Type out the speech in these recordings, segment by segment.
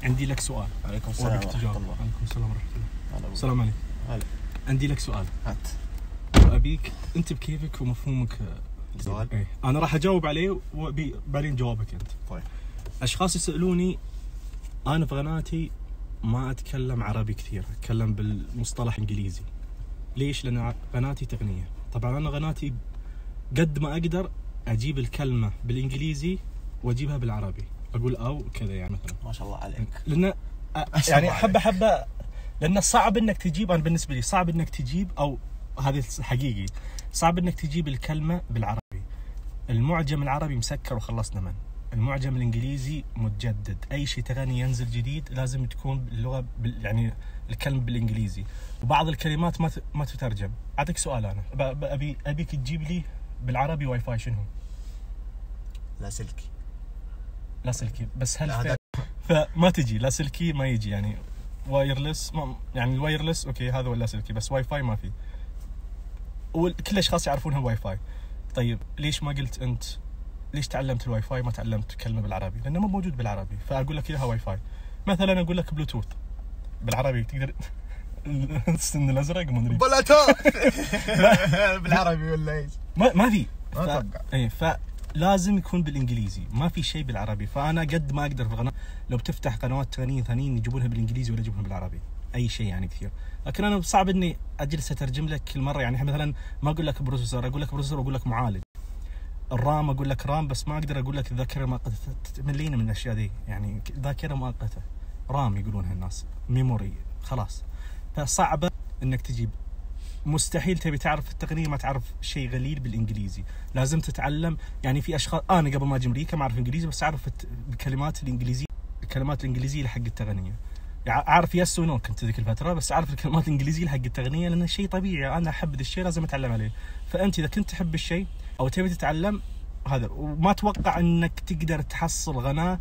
عندي لك سؤال. عليكم السلام ورحمة الله. عليكم السلام ورحمة الله. السلام عليكم. هلا. عندي لك سؤال. هات. أبيك أنت بكيفك ومفهومك سؤال. إيه. أنا راح أجاوب عليه وبعدين جوابك أنت. طيب. أشخاص يسألوني أنا في قناتي ما أتكلم عربي كثير، أتكلم بالمصطلح إنجليزي. ليش؟ لأن قناتي تقنية. طبعا أنا قناتي قد ما أقدر أجيب الكلمة بالإنجليزي وأجيبها بالعربي، أقول أو كذا يعني مثلا. ما شاء الله عليك. لأن يعني حبة لأن صعب إنك تجيب، أنا بالنسبة لي صعب إنك تجيب، أو هذا حقيقي صعب إنك تجيب الكلمة بالعربي. المعجم العربي مسكر وخلصنا منه. المعجم الإنجليزي متجدد، أي شيء تغني ينزل جديد لازم تكون اللغة يعني الكلمة بالإنجليزي، وبعض الكلمات ما تترجم. أعطيك سؤال أنا أبيك تجيب لي بالعربي واي فاي شنو؟ لا سلكي بس هل فما تجي لا سلكي، ما يجي يعني وايرلس، يعني الوايرلس اوكي هذا ولا سلكي، بس واي فاي ما في. وكل الاشخاص يعرفونها واي فاي. طيب ليش ما قلت انت ليش تعلمت الواي فاي ما تعلمت كلمه بالعربي؟ لانه ما موجود بالعربي، فاقول لك اياها واي فاي. مثلا اقول لك بلوتوث بالعربي تقدر السن الازرق ما ادري بلوتوث بالعربي ولا ايش؟ ما في. اتوقع اي لازم يكون بالانجليزي، ما في شيء بالعربي. فانا قد ما اقدر في القناه لو بتفتح قنوات ثانيين يجيبونها بالانجليزي ولا يجيبونها بالعربي، اي شيء يعني كثير. لكن انا صعب اني اجلس اترجم لك كل مره. يعني مثلا ما اقول لك بروسيسور، اقول لك بروسيسور واقول لك معالج. الرام اقول لك رام، بس ما اقدر اقول لك الذاكره مؤقته. تملينا من الاشياء دي، يعني ذاكره مؤقته رام يقولونها الناس، ميموري خلاص. فصعبه انك تجيب. مستحيل تبي تعرف التقنيه ما تعرف شيء غليل بالانجليزي. لازم تتعلم. يعني في اشخاص، انا قبل ما اجي امريكا ما اعرف انجليزي، بس اعرف الكلمات الانجليزيه، الكلمات الانجليزيه حق التقنيه. يعني اعرف يس ونو كنت ذيك الفتره، بس اعرف الكلمات الانجليزيه حق التقنيه لانه شيء طبيعي. انا احب ذا الشيء لازم اتعلم عليه. فانت اذا كنت تحب الشيء او تبي تتعلم هذا، وما اتوقع انك تقدر تحصل قناه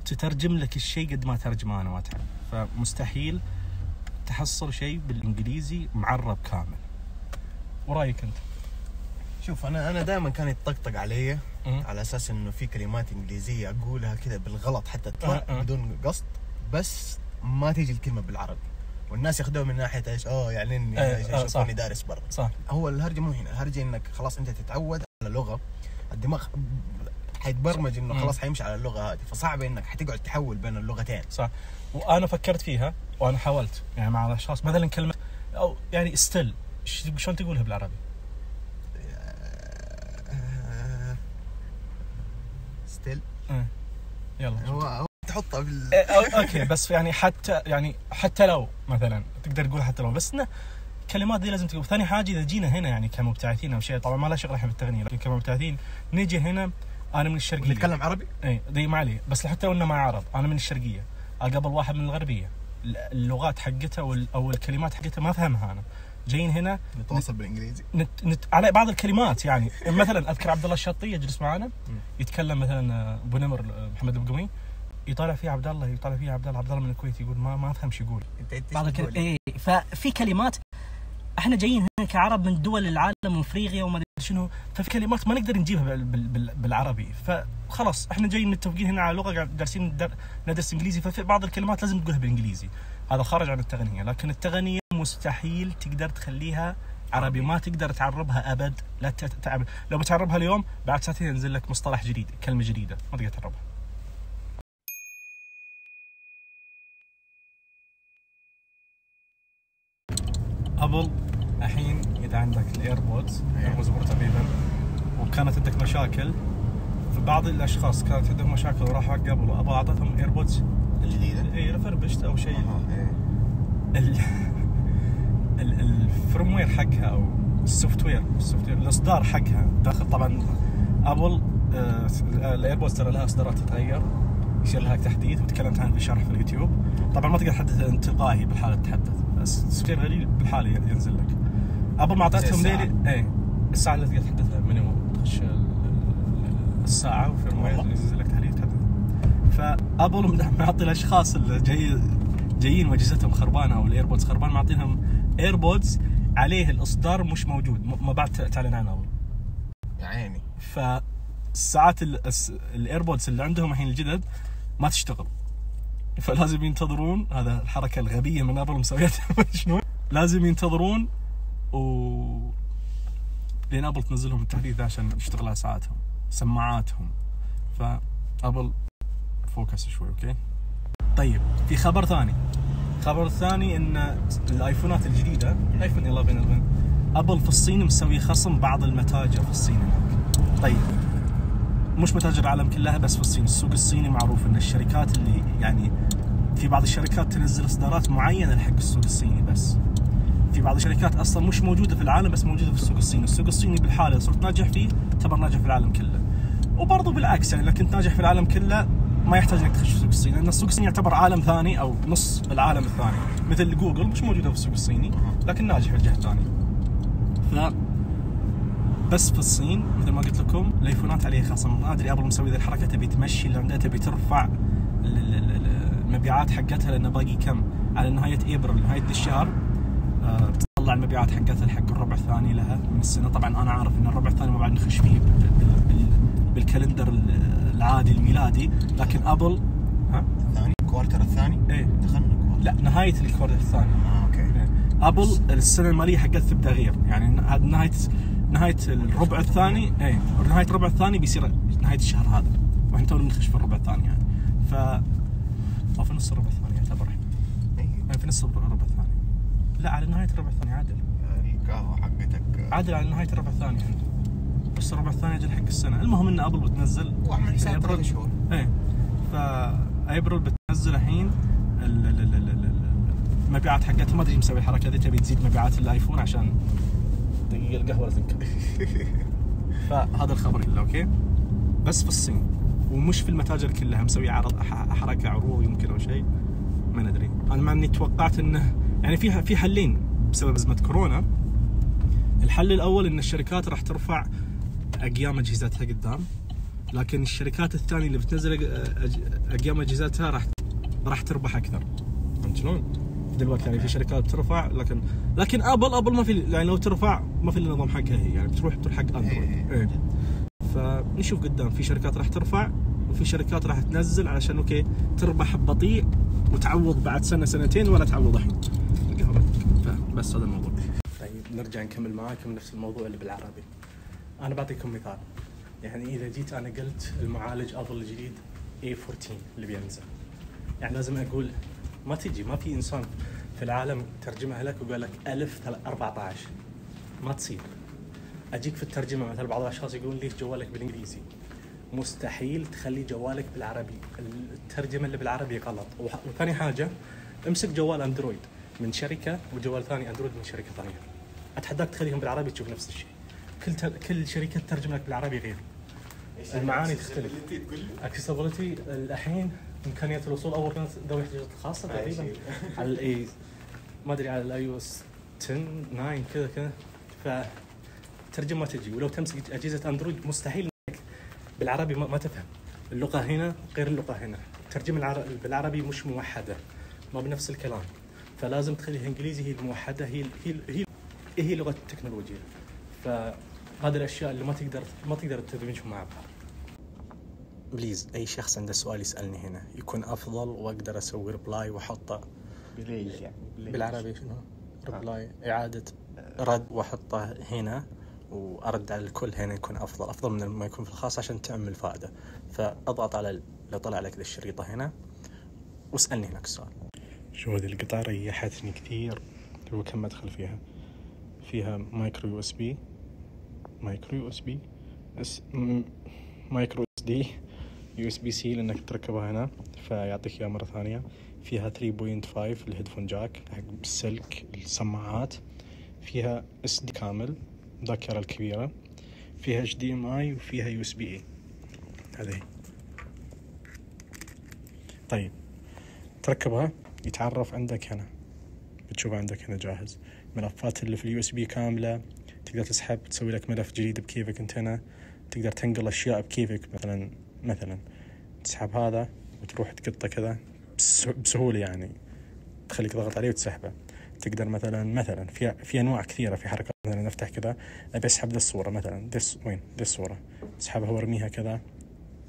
تترجم لك الشيء قد ما ترجمه انا واتعلم. فمستحيل تحصل شيء بالانجليزي معرب كامل. ورايك انت؟ شوف انا دائما كان يطقطق علي على اساس انه في كلمات انجليزيه اقولها كذا بالغلط حتى تطلع بدون قصد، بس ما تيجي الكلمه بالعربي، والناس ياخذوها من ناحيه ايش؟ يعني اني يشوفوني دارس برا. صح. هو الهرجه مو هنا، الهرجه انك خلاص انت تتعود على لغه، الدماغ حيتبرمج انه خلاص حيمشي على اللغه هذه، فصعب انك حتقعد تحول بين اللغتين. صح. وانا فكرت فيها وانا حاولت يعني مع الاشخاص، مثلا كلمه او يعني ستيل شلون تقولها بالعربي؟ ستيل يلا هو تحطها اوكي. بس يعني حتى لو مثلا تقدر تقول حتى لو، بس انه الكلمات دي لازم تقول. ثاني حاجه اذا جينا هنا يعني كمبتعثين او شيء، طبعا ما له شغل احنا بالتغنيه، لكن كمبتعثين نيجي هنا. انا من الشرقيه نتكلم عربي، اي دي ما عليه، بس حتى لو انه ما عرب. انا من الشرقيه، اقابل واحد من الغربيه، اللغات حقتها او الكلمات حقتها ما افهمها. انا جايين هنا نتواصل بالانجليزي على بعض الكلمات. يعني مثلا اذكر عبد الله الشطي يجلس معنا يتكلم مثلا ابو نمر محمد البقمي، يطالع فيه عبد الله، يطالع فيه عبد الله من الكويت، يقول ما افهم شو يقول. ففي كلمات احنا جايين هنا كعرب من دول العالم من افريقيا وما ادري شنو، ففي كلمات ما نقدر نجيبها بالعربي. فخلاص احنا جايين متفقين هنا على لغه، جالسين ندرس انجليزي، ففي بعض الكلمات لازم تقولها بالانجليزي. هذا خارج عن التغنيه. لكن التغنيه مستحيل تقدر تخليها عربي، ما تقدر تعربها ابد. لا لو بتعربها اليوم بعد ساعتين ينزل لك مصطلح جديد، كلمه جديده، ما تقدر تعربها. ابل الحين اذا عندك الايربودز تقريبا، وكانت عندك مشاكل، فبعض الاشخاص كانت عندهم مشاكل وراحوا حق ابل وابل اعطتهم ايربودز الجديده ريفربشت او شيء. الفيرم وير حقها او السوفت وير الاصدار حقها داخل. طبعا ابل الايربودز ترى لها اصدارات تتغير، يصير لها تحديث، وتكلمت عنه في شرح في اليوتيوب. طبعا ما تقدر تحدث تلقائي بالحاله تتحدث، بس السوفت وير غريب بالحاله ينزل لك. ابل ما اعطتهم ليلي الساعه اللي تقدر تحدثها مينيموم، تخش الساعه وفيرم وير ينزل لك تحديث تحدث. فابل معطي الاشخاص اللي جايين واجهزتهم خربانه او الايربودز خربان، معطينهم ايربودز عليه الاصدار مش موجود، ما بعد تعلن عنه ابل يا عيني. فالساعات الايربودز اللي عندهم الحين الجدد ما تشتغل، فلازم ينتظرون. هذا الحركة الغبية من أبل مسويتها شنو، لازم ينتظرون لين أبل تنزلهم التحديث عشان يشتغل على ساعاتهم سماعاتهم. فأبل فوكس شوي. أوكي طيب في خبر ثاني إن الآيفونات الجديدة آيفون 11 أبل في الصين مسوي خصم بعض المتاجر في الصين هناك. طيب مش متاجر العالم كلها بس في الصين. السوق الصيني معروف إن الشركات اللي يعني في بعض الشركات تنزل إصدارات معينة حق السوق الصيني، بس في بعض الشركات أصلا مش موجودة في العالم بس موجودة في السوق الصيني. السوق الصيني بالحالة صرت ناجح فيه تعتبر ناجح في العالم كله، وبرضه بالعكس يعني لو كنت ناجح في العالم كله ما يحتاج انك تخش في السوق الصيني، لان السوق الصيني يعتبر عالم ثاني او نص العالم الثاني، مثل جوجل مش موجوده في السوق الصيني لكن ناجح في الجهه الثانيه. بس في الصين مثل ما قلت لكم الايفونات عليه خصم. ما ادري ابل مسوي ذي الحركه، تبي تمشي اللي عندها، تبي ترفع المبيعات حقتها، لانه باقي كم على نهايه ابريل نهايه الشهر بتطلع المبيعات حقتها حق الربع الثاني لها من السنه. طبعا انا عارف ان الربع الثاني ما بعد نخش فيه بالكالندر العادي الميلادي، لكن ابل الثاني الكوارتر الثاني ايه دخلنا كوارتر. لا نهايه الكوارتر الثاني. اوكي إيه. ابل السنه الماليه حقتها تبدا غير، يعني هذا نهايه الربع الثاني. ايه نهايه الربع الثاني بيصير نهايه الشهر هذا، واحنا تونا نخش في الربع الثاني يعني. او في نص الربع الثاني يعتبر يعني في نص الربع الثاني. لا على نهايه الربع الثاني عادل. القهوه حقتك عادل على نهايه الربع الثاني يعني. بس الربع الثاني اجل حق السنه. المهم ان ابل بتنزل واعمل حساب 3 شهور. ايه فابريل بتنزل الحين المبيعات حقتها. ما ادري مسوي الحركه ذي، تبي تزيد مبيعات الايفون عشان دقيقه القهوه تنكب. فهذا الخبر كله اوكي، بس في الصين ومش في المتاجر كلها. مسوي عرض حركه عروض يمكن او شيء ما ندري. انا مع اني توقعت انه يعني في حلين بسبب ازمه كورونا. الحل الاول ان الشركات راح ترفع اقيام اجهزتها قدام، لكن الشركات الثانيه اللي بتنزل اقيام اجهزتها راح تربح اكثر. فهمت شلون؟ دلوقتي يعني في شركات بترفع لكن ابل ما في، يعني لو ترفع ما في النظام حقها هي، يعني بتروح حق اندرويد. ايه فنشوف قدام في شركات راح ترفع وفي شركات راح تنزل علشان اوكي تربح بطيء وتعوض بعد سنه سنتين ولا تعوض الحين. بس هذا الموضوع. طيب نرجع نكمل معاكم نفس الموضوع اللي بالعربي. انا بعطيكم مثال، يعني اذا جيت انا قلت المعالج ابل الجديد A14 اللي بينزل، يعني لازم اقول ما في انسان في العالم ترجمها لك وقال لك 1014 ما تصير. اجيك في الترجمه مثلا بعض الاشخاص يقولون ليش جوالك بالانجليزي؟ مستحيل تخلي جوالك بالعربي، الترجمه اللي بالعربي غلط. وثاني حاجه امسك جوال اندرويد من شركه وجوال ثاني اندرويد من شركه ثانيه، اتحداك تخليهم بالعربي تشوف نفس الشيء. كل شركه تترجم لك بالعربي غير، المعاني تختلف. اكسسبيلتي الحين امكانيه الوصول اول كانت ذوي الاحتياجات الخاصه تقريبا على الاي ما ادري على الاي او اس 10 9 كذا فترجم ما تجي. ولو تمسك اجهزه اندرويد مستحيل انك بالعربي ما تفهم اللغه هنا غير اللغه هنا. الترجمه بالعربي مش موحده، ما بنفس الكلام، فلازم تخليها انجليزي هي الموحده، هي لغه التكنولوجيا. فهذه الاشياء اللي ما تقدر تدمجهم مع بعض. بليز اي شخص عنده سؤال يسالني هنا يكون افضل، واقدر اسوي ريبلاي واحطه بالعربي. شنو ريبلاي؟ اعاده رد واحطه هنا وارد على الكل هنا، يكون افضل من ما يكون في الخاص عشان تعمل فائده. فاضغط على لو طلع لك الشريطه هنا واسالني هناك السؤال. شو هذه القطعه ريحتني كثير. هو كم مدخل فيها مايكرو يو اس بي مايكرو اس دي يو اس بي سي لانك تركبها هنا فيعطيك اياها مره ثانيه. فيها 3.5 الهيدفون جاك حق بالسلك السماعات. فيها اس دي كامل ذاكره الكبيره. فيها اتش دي ام اي وفيها يو اس بي اي. هذه طيب تركبها يتعرف عندك هنا، بتشوفها عندك هنا جاهز. ملفات اللي في اليو اس بي كامله، تقدر تسحب تسوي لك ملف جديد بكيفك انت هنا. تقدر تنقل اشياء بكيفك، مثلا تسحب هذا وتروح تقطه كذا بسهوله، يعني تخليك تضغط عليه وتسحبه. تقدر مثلا في انواع كثيره في حركات. مثلا نفتح كذا ابي اسحب ذا الصوره مثلا، وين ذا الصوره، اسحبها وارميها كذا.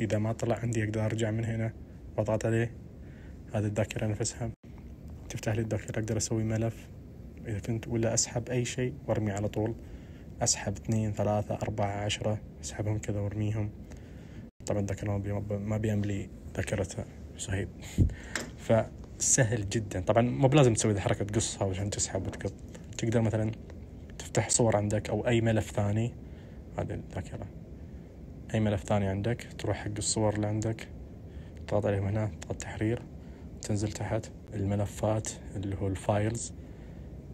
اذا ما طلع عندي اقدر ارجع من هنا واضغط عليه هذه الذاكرة نفسها. تفتح لي الذاكرة أقدر أسوي ملف إذا كنت، ولا أسحب أي شيء وأرمي على طول، أسحب 2 3 4 10 أسحبهم كذا وأرميهم. طبعا الذاكرة ما بيملي ذاكرتها صهيب. فسهل جدا. طبعا مو بلازم تسوي ذي حركة تقصها عشان تسحب وتقط. تقدر مثلا تفتح صور عندك أو أي ملف ثاني، هذه الذاكرة، أي ملف ثاني عندك تروح حق الصور اللي عندك، تضغط عليهم هنا، تضغط تحرير، تنزل تحت الملفات اللي هو الفايلز،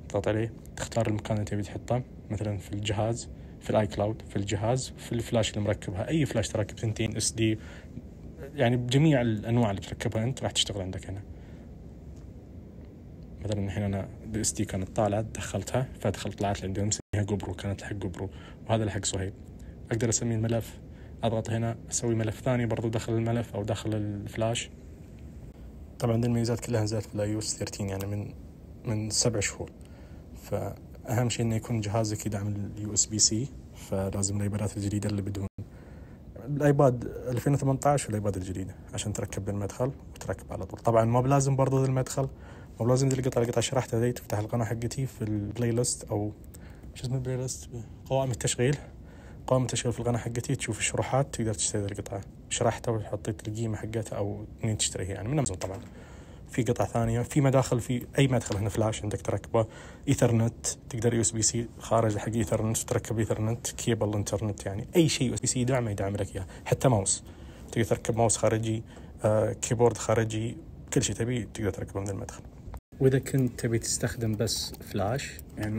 تضغط عليه، تختار المكان اللي تبي تحطه، مثلا في الجهاز، في الاي كلاود، في الجهاز، في الفلاش اللي مركبها، اي فلاش تركب 2 SD، يعني بجميع الانواع اللي تركبها انت راح تشتغل عندك هنا. مثلا الحين انا SD كانت طالعه دخلتها، فدخلت طلعت لي عندي مسميها جوبرو، كانت حق جوبرو، وهذا اللي حق صهيب. اقدر اسمي الملف، اضغط هنا اسوي ملف ثاني برضو داخل الملف او داخل الفلاش. طبعا دي الميزات كلها نزلت في iOS 13 يعني من 7 شهور. فأهم شيء إنه يكون جهازك يدعم USB-C، فلازم الأيبادات الجديدة اللي بدون الأيباد 2018 والأيباد الجديدة عشان تركب بالمدخل وتركب على طول. طبعا ما بلازم برضو ذا المدخل، ما بلازم ذي القطعة شرحتها ذي، تفتح القناة حقتي في البلاي ليست أو شو اسمه البلاي ليست، قوائم التشغيل في القناة حقتي، تشوف الشروحات، تقدر تشتري القطعة شرحتها وتحطيت القيمة حقتها أو منين تشتريها، يعني من أمازون. طبعا في قطع ثانية، في مداخل، في أي مدخل هنا فلاش عندك تركبه، إيثرنت، تقدر USB-C خارج حق إيثرنت تركب إيثرنت، كيبل إنترنت، يعني أي شيء USB-C يدعم لك إياه. حتى ماوس تقدر تركب ماوس خارجي، كيبورد خارجي، كل شيء تبي تقدر تركبه من المدخل. وإذا كنت تبي تستخدم بس فلاش، يعني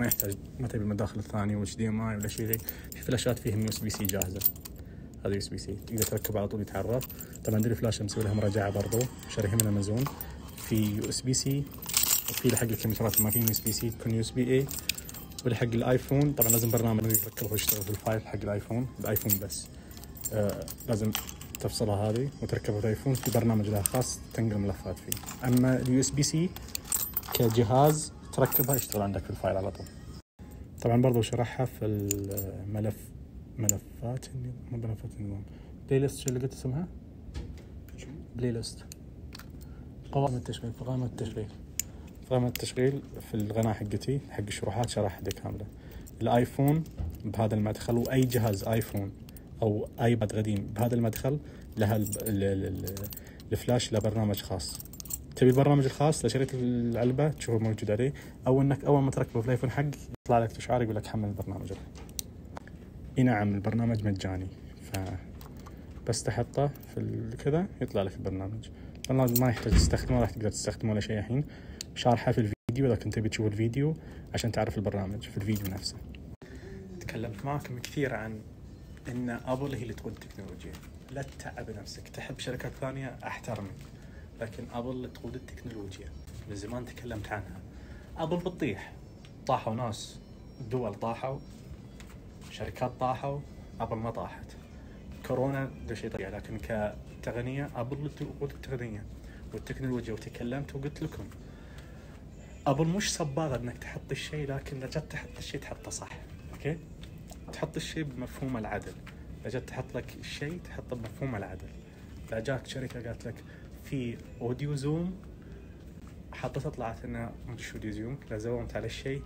ما تبي المداخل الثانية HDMI ولا شيء ذي، في فلاشات فيهم USB-C جاهزة، هذا USB-C تقدر تركبه على طول يتعرف. طبعا دي الفلاش مسوي لها مراجعة برضو، شاريها من أمازون، في USB-C، وفي لحق الكمبيوترات ما في USB-C يكون USB-A، ولحق الآيفون طبعا لازم برنامج يركبه ويشتغل في الفايل حق الآيفون بس. لازم تفصلها هذه وتركبها في الآيفون، في برنامج لها خاص تنقل ملفات فيه. أما USB-C كجهاز تركبها يشتغل عندك في الفايل على طول. طبعا برضو شرحها في ملفات النظام بلاي ليست. شو اللي قلت اسمها؟ بلاي ليست، قوائم التشغيل في القناة حقتي حق الشروحات شرح دي كاملة. الآيفون بهذا المدخل، وأي جهاز آيفون أو آيباد قديم بهذا المدخل لها الفلاش له برنامج خاص. تبي البرنامج الخاص لشريط العلبة تشوفه موجود عليه، أو إنك أول ما تركبه في الآيفون حق يطلع لك إشعار يقول لك حمل البرنامج. نعم البرنامج مجاني، بس تحطه في كذا يطلع لك البرنامج ما يحتاج تستخدمه، راح تقدر تستخدمه ولا شيء. الحين شارحه في الفيديو إذا كنت تبي تشوف الفيديو عشان تعرف البرنامج في الفيديو نفسه. تكلمت معكم كثير عن إن أبل هي اللي تقود التكنولوجيا. لا تتعب نفسك، تحب شركات ثانية أحترمك، لكن أبل اللي تقود التكنولوجيا. من زمان تكلمت عنها. أبل بتطيح، طاحوا ناس، دول طاحوا، شركات طاحوا، أبل ما طاحت. كورونا ده شيء طبيعي، لكن كتقنية أبل اللي تقود التقنية والتكنولوجيا. وتكلمت وقلت لكم أبل مش صباغة إنك تحط الشيء، لكن إذا جت تحط الشيء تحطه صح. أوكي، تحط الشيء بمفهوم العدل. إذا جت تحط لك الشيء تحطه بمفهوم العدل. إذا جاك شركة قالت لك في أوديو زوم، حطتها طلعت إنها مش أوديو زوم، إذا زومت على الشيء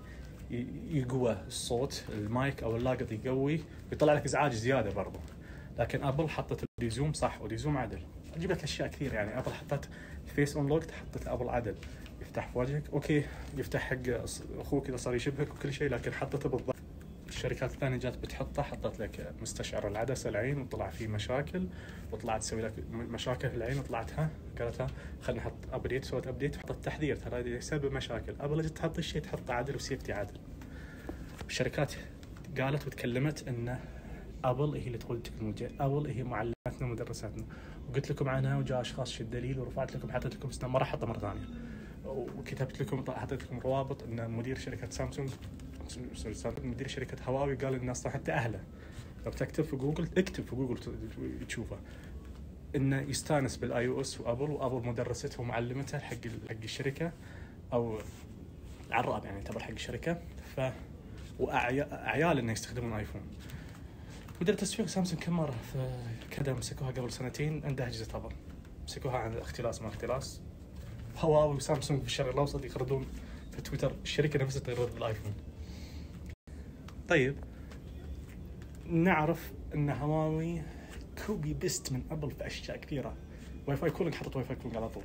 يقوى الصوت، المايك أو اللاقط يقوي، يطلع لك إزعاج زيادة برضو. لكن أبل حطت أوديو زوم صح، أوديو زوم عدل. أجيب لك أشياء كثير، يعني أبل حطت فيس أون لوك، حطت أبل عدل، يفتح في وجهك، أوكي يفتح حق أخوك إذا صار يشبهك وكل شيء، لكن حطته بالضبط. الشركات الثانية جات بتحطه، حطت لك مستشعر العدسة العين وطلع فيه مشاكل، وطلعت تسوي لك مشاكل في العين، وطلعتها قالتها خلينا نحط أبديت، سوت أبديت وحطت تحذير ترى هذا يسبب مشاكل. أبل جت تحط الشيء تحطه عدل وسيفتي عدل. الشركات قالت وتكلمت إن أبل هي اللي تقول التكنولوجيا، أبل هي معلماتنا ومدرساتنا، وقلت لكم عنها وجاء أشخاص شو الدليل، ورفعت لكم حطيت لكم سنة ما راح أحطها مرة ثانية، وكتبت لكم حطيت لكم روابط إن مدير شركة سامسونج مدير شركة هواوي قال الناس حتى أهله لو بتكتب في جوجل، اكتب في جوجل تشوفه، إنه يستانس بالآي أو إس وأبل مدرسته ومعلمته حق الشركة أو العراب، يعني يعتبر حق الشركة. وأعيال إنه يستخدمون آيفون. مدير تسويق سامسونج كم مرة في كذا مسكوها قبل 2 سنين عندها أجهزة أبل، مسكوها عن الاختلاس ما اختلاس، هواوي وسامسونج في الشرق الاوسط يقردون في تويتر، الشركه نفسها تقرر بالايفون. طيب نعرف ان هواوي كوبي بيست من ابل في اشياء كثيره. واي فاي كولينج، حطت واي فاي كولينج على طول.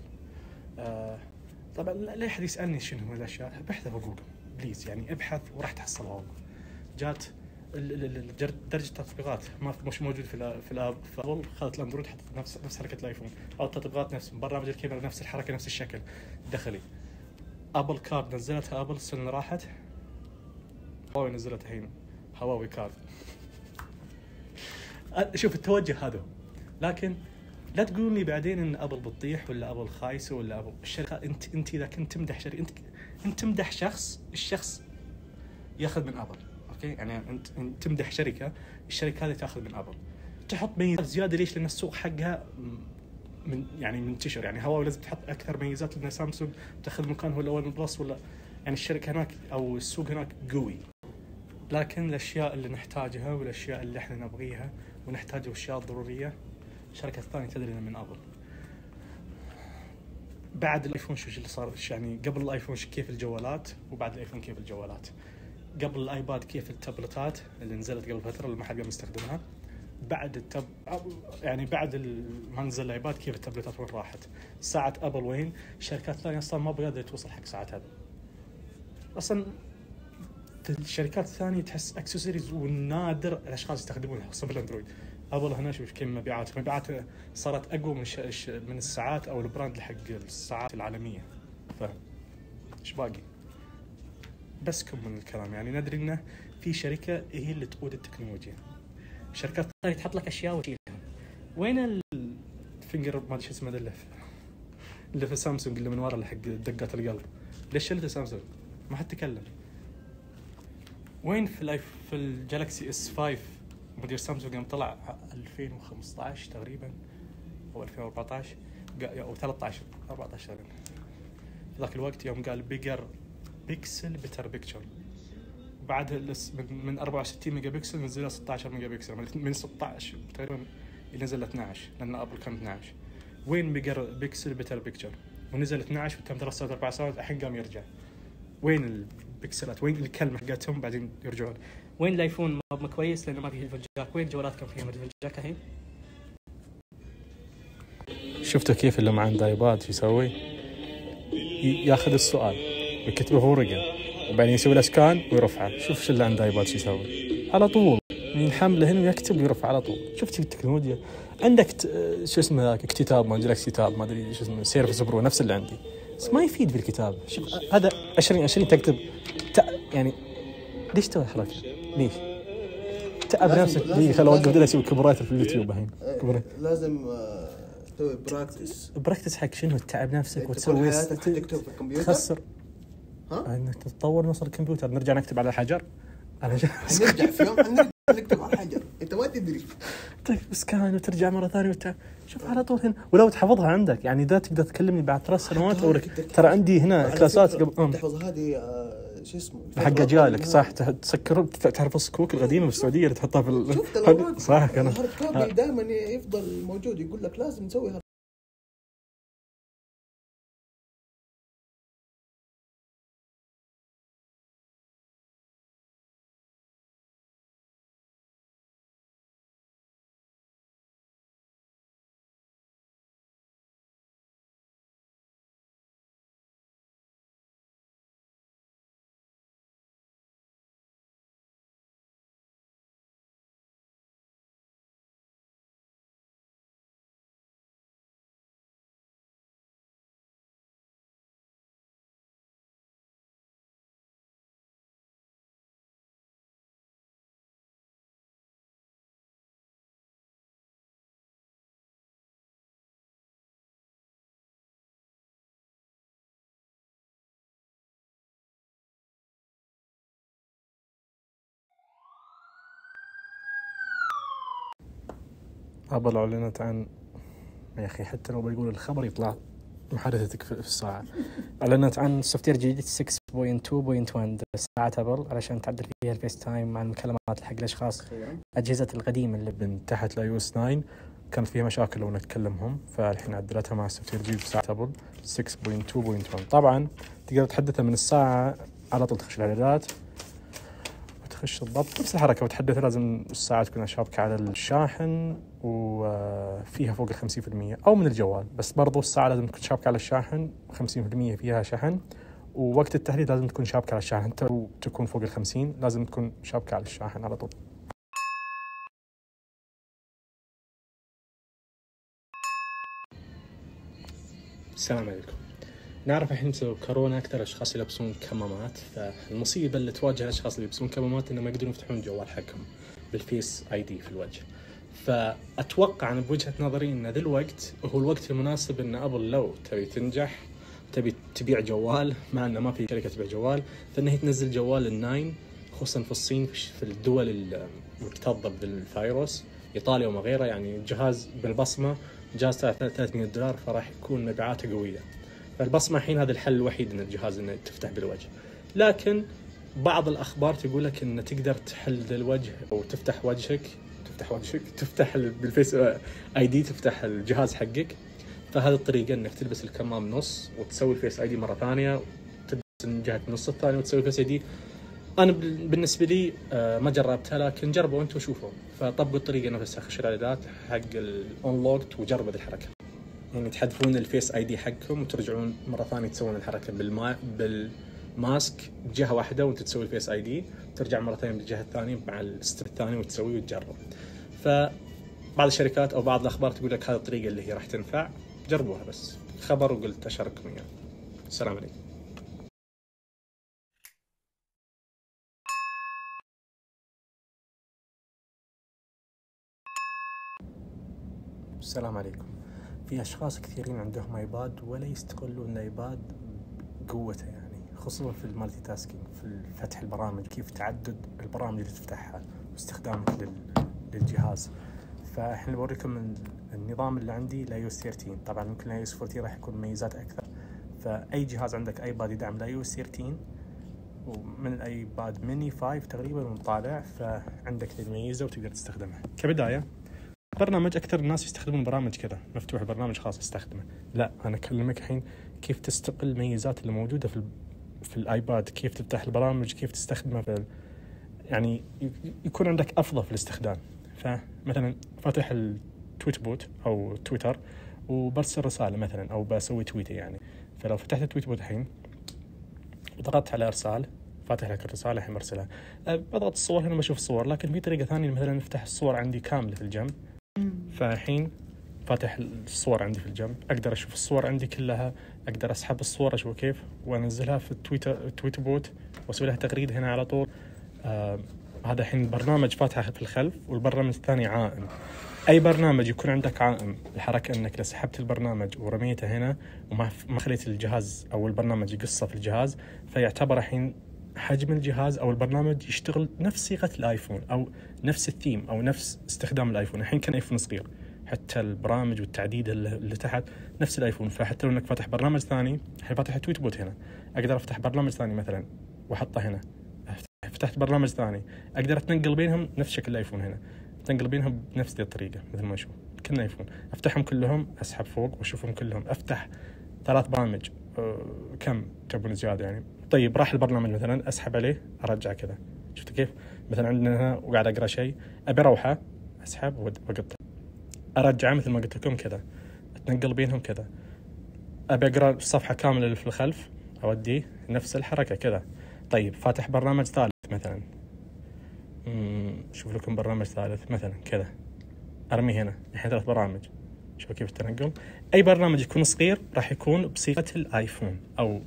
طبعا لا احد يسالني شنو هو الاشياء، ابحث في جوجل بليز، يعني ابحث وراح تحصلها. جات درجه التطبيقات مش موجود في الاب، فابل خذت الاندرويد حطت نفس حركه الايفون، او التطبيقات نفس برنامج الكاميرا نفس الحركه نفس الشكل دخلي. ابل كارد نزلتها ابل السنه راحت، هواوي نزلتها الحين هواوي كارد. شوف التوجه هذا، لكن لا تقولون لي بعدين ان ابل بتطيح ولا ابل خايسه ولا ابل الشركه. انت اذا كنت تمدح شركه، انت تمدح شخص، الشخص ياخذ من ابل، اوكي؟ يعني انت تمدح شركه، الشركه هذه تاخذ من ابل، تحط ميزات زياده. ليش؟ لان السوق حقها منتشر. يعني هواوي لازم تحط اكثر ميزات، لان سامسونج تاخذ مكانه الاول من بلس، ولا يعني الشركه هناك او السوق هناك قوي. لكن الاشياء اللي نحتاجها والاشياء اللي احنا نبغيها ونحتاجها والاشياء الضروريه، شركه ثانيه تدري من ابل. بعد الايفون شو اللي صار؟ يعني قبل الايفون كيف الجوالات، وبعد الايفون كيف الجوالات. قبل الايباد كيف التابلتات اللي نزلت قبل فتره اللي ما حد قام يستخدمها. بعد يعني بعد ما نزل الايباد كيف التابلتات وين راحت. ساعه ابل وين؟ شركات ثانيه اصلا ما بقدر توصل حق ساعه ابل اصلا. الشركات الثانيه تحس اكسسوارز والنادر الاشخاص يستخدمونها، خاصه بالاندرويد. ابل هنا شوف كم مبيعات صارت اقوى من الساعات او البراند حق الساعات العالميه. ايش باقي؟ بس كم من الكلام. يعني ندري انه في شركه هي اللي تقود التكنولوجيا، شركات ثانيه تحط لك اشياء وتشيلها. وين الفينجر ما ادري شو اسمه اللي في سامسونج اللي من ورا اللي حق دقات القلب؟ ليش شلته سامسونج؟ ما حد تكلم. وين في الجالكسي اس 5 مدير سامسونج يوم طلع 2015 تقريبا او 2014 او 13 14 تقريبا، في ذاك الوقت يوم قال بيجر بيكسل بيتر بيكتشر، بعد من 64 ميجا بكسل نزلها 16 ميجا بكسل، من 16 تقريبا نزل 12 لان ابل كان 12. وين بيجر بيكسل بيتر بيكتشر؟ ونزل 12 وتم 3 سنوات 4 سنوات الحين قام يرجع. وين البكسلات؟ وين الكلمه حقتهم بعدين يرجعون؟ وين الايفون ما كويس لانه ما فيه هيدفون جاك؟ وين جوالات كان فيها هيدفون جاك الحين؟ شفتوا كيف اللي ما عنده ايباد شو يسوي؟ ياخذ السؤال ويكتبه في ورقه وبعدين يسوي له سكان ويرفعه. شوف شو اللي عنده ايباد شو يسوي على طول، ينحمله هنا ويكتب ويرفع على طول. شفت التكنولوجيا عندك شو اسمه ذاك كتاب ما جالكسي تاب ما ادري شو اسمه سيرفس برو نفس اللي عندي، بس ما يفيد بالكتاب. شوف هذا 20 تكتب يعني ليش تسوي حركه؟ ليش تعب نفسك؟ ليه خلوا اوقف بدل اسوي كوبرايت في اليوتيوب الحين. لازم تسوي براكتس حق شنو؟ تتعب نفسك وتسوي تكتب في الكمبيوتر تخسر انك تتطور نصر الكمبيوتر. نرجع نكتب على الحجر نرجع في يوم نكتب على الحجر انت ما تدري تكتب سكان وترجع مره ثانيه شوف على طول هنا. ولو تحفظها عندك يعني ده تقدر تكلمني بعد 3 سنوات ترى عندي هنا كلاسات قبل تحفظ هذه شو اسمه حق اجيالك صح. تسكر تعرف الصكوك القديمه في السعوديه اللي تحطها في صح كان دائما يفضل موجود يقول لك لازم تسوي. أبل أعلنت عن يا أخي حتى لو بيقول الخبر يطلع محادثتك في الساعة. أعلنت عن سوفتوير جديد 6.2.1 ساعة أبل علشان تعدل فيها الفيس تايم مع المكالمات حق الأشخاص أجهزة القديمة اللي من تحت iOS 9 كانت فيها مشاكل لو نتكلمهم، فالحين عدلتها مع السوفت وير الجديد في ساعة أبل 6.2.1. طبعا تقدر تحدثها من الساعة على طول، تخش الإعدادات وتخش الضبط نفس الحركة وتحدث. لازم الساعة تكون شابكة على الشاحن وفيها فوق 50%، أو من الجوال، بس برضو الساعة لازم تكون شابكة على الشاحن 50% فيها شحن. ووقت التحديث لازم تكون شابكة على الشاحن، حتى لو تكون فوق 50 لازم تكون شابكة على الشاحن على طول. السلام عليكم. نعرف الحين بسبب كورونا أكثر أشخاص يلبسون كمامات، فالمصيبة اللي تواجه الأشخاص اللي يلبسون كمامات إنه ما يقدرون يفتحون الجوال حقهم بالفيس ID في الوجه. فأتوقع أنا بوجهة نظري إن ذا الوقت هو الوقت المناسب إن أبل لو تبي تنجح تبي تبيع جوال، مع إنه ما في شركة تبيع جوال، فإنها تنزل جوال ال9، خصوصا في الصين، في الدول المكتظة بالفيروس، إيطاليا وما غيرها. يعني جهاز بالبصمة جهاز $300، فراح يكون مبيعاته قوية. فالبصمة الحين هذا الحل الوحيد إن الجهاز إنه تفتح بالوجه. لكن بعض الأخبار تقول لك إن تقدر تحل الوجه أو تفتح وجهك تفتح بالفيس ID، تفتح الجهاز حقك. فهذه الطريقة إنك تلبس الكمام نص وتسوي الفيس ID مرة ثانية، وتلبس من جهة النص الثاني وتسوي الفيس ID. أنا بالنسبة لي ما جربتها، لكن جربوا أنتوا وشوفوا. فطبقوا الطريقة نفسها، خشوا الإعدادات حق الأونلوكت وجربوا هذه الحركة، يعني تحذفون الفيس ID حقكم وترجعون مرة ثانية تسوون الحركة بالماسك جهة واحدة وأنت تسوي الفيس ID، ترجع مرة ثانية بالجهة الثانية مع الستيب الثاني وتسويه وتجرب. فبعض الشركات أو بعض الأخبار تقول لك هذه الطريقة اللي هي راح تنفع، جربوها. بس خبر وقلت أشارككم إياه. السلام عليكم. السلام عليكم. في أشخاص كثيرين عندهم ايباد ولا يستغلون الايباد بقوته، يعني خصوصا في المالتي تاسكينج، في فتح البرامج، كيف تعدد البرامج اللي تفتحها واستخدامك للجهاز. فاحنا بوريكم النظام اللي عندي iOS 13. طبعا ممكن iOS 14 راح يكون ميزات اكثر. فاي جهاز عندك ايباد يدعم iOS 13 ومن الايباد ميني 5 تقريبا ومطالع، فعندك الميزة وتقدر تستخدمها. كبداية برنامج، أكثر الناس يستخدمون برامج كذا مفتوح، برنامج خاص استخدمه. لا، أنا أكلمك الحين كيف تستقل الميزات اللي موجودة في الآيباد، كيف تفتح البرامج، كيف تستخدمها يعني يكون عندك أفضل في الاستخدام. فمثلا فاتح التويت بوت أو تويتر وبرسل رسالة مثلا، أو بسوي تويتة يعني. فلو فتحت التويت بوت الحين وضغطت على إرسال، فاتح لك الرسالة الحين مرسلها. بضغط الصور هنا بشوف الصور، لكن في طريقة ثانية مثلا نفتح الصور عندي كاملة في الجنب. فالحين فاتح الصور عندي في الجنب، أقدر أشوف الصور عندي كلها، أقدر أسحب الصور أشوف كيف وأنزلها في التويت بوت وأسوي لها تغريدة هنا على طول. هذا الحين برنامج فاتحه في الخلف، والبرنامج الثاني عائم. أي برنامج يكون عندك عائم، الحركة أنك لو سحبت البرنامج ورميته هنا وما خليت الجهاز أو البرنامج يقصه في الجهاز، فيعتبر الحين حجم الجهاز أو البرنامج يشتغل نفس صيغة الآيفون أو نفس الثيم أو نفس استخدام الآيفون. الحين كان آيفون صغير، حتى البرامج والتعديد اللي تحت نفس الآيفون. فحتى لو أنك فاتح برنامج ثاني، الحين فاتح تويت بوت هنا، أقدر أفتح برنامج ثاني مثلا وأحطه هنا. فتحت برنامج ثاني، أقدر أتنقل بينهم نفس شكل الآيفون هنا، أتنقل بينهم بنفس الطريقة مثل ما أشوف كنا آيفون. أفتحهم كلهم، أسحب فوق وأشوفهم كلهم، أفتح 3 برامج، كم تبون زيادة يعني. طيب راح البرنامج مثلا، أسحب عليه أرجع كذا. شفت كيف؟ مثلا عندنا هنا وقاعد أقرأ شيء، أبي أروحه، أسحب وأقطع، أرجعه مثل ما قلت لكم كذا، أتنقل بينهم كذا. أبي أقرأ الصفحة كاملة اللي في الخلف، أوديه نفس الحركة كذا. طيب فاتح برنامج ثالث مثلا، شوف لكم برنامج ثالث مثلا كذا، أرمي هنا. الحين 3 برامج، شوف كيف التنقل. أي برنامج يكون صغير راح يكون بصيغة الآيفون أو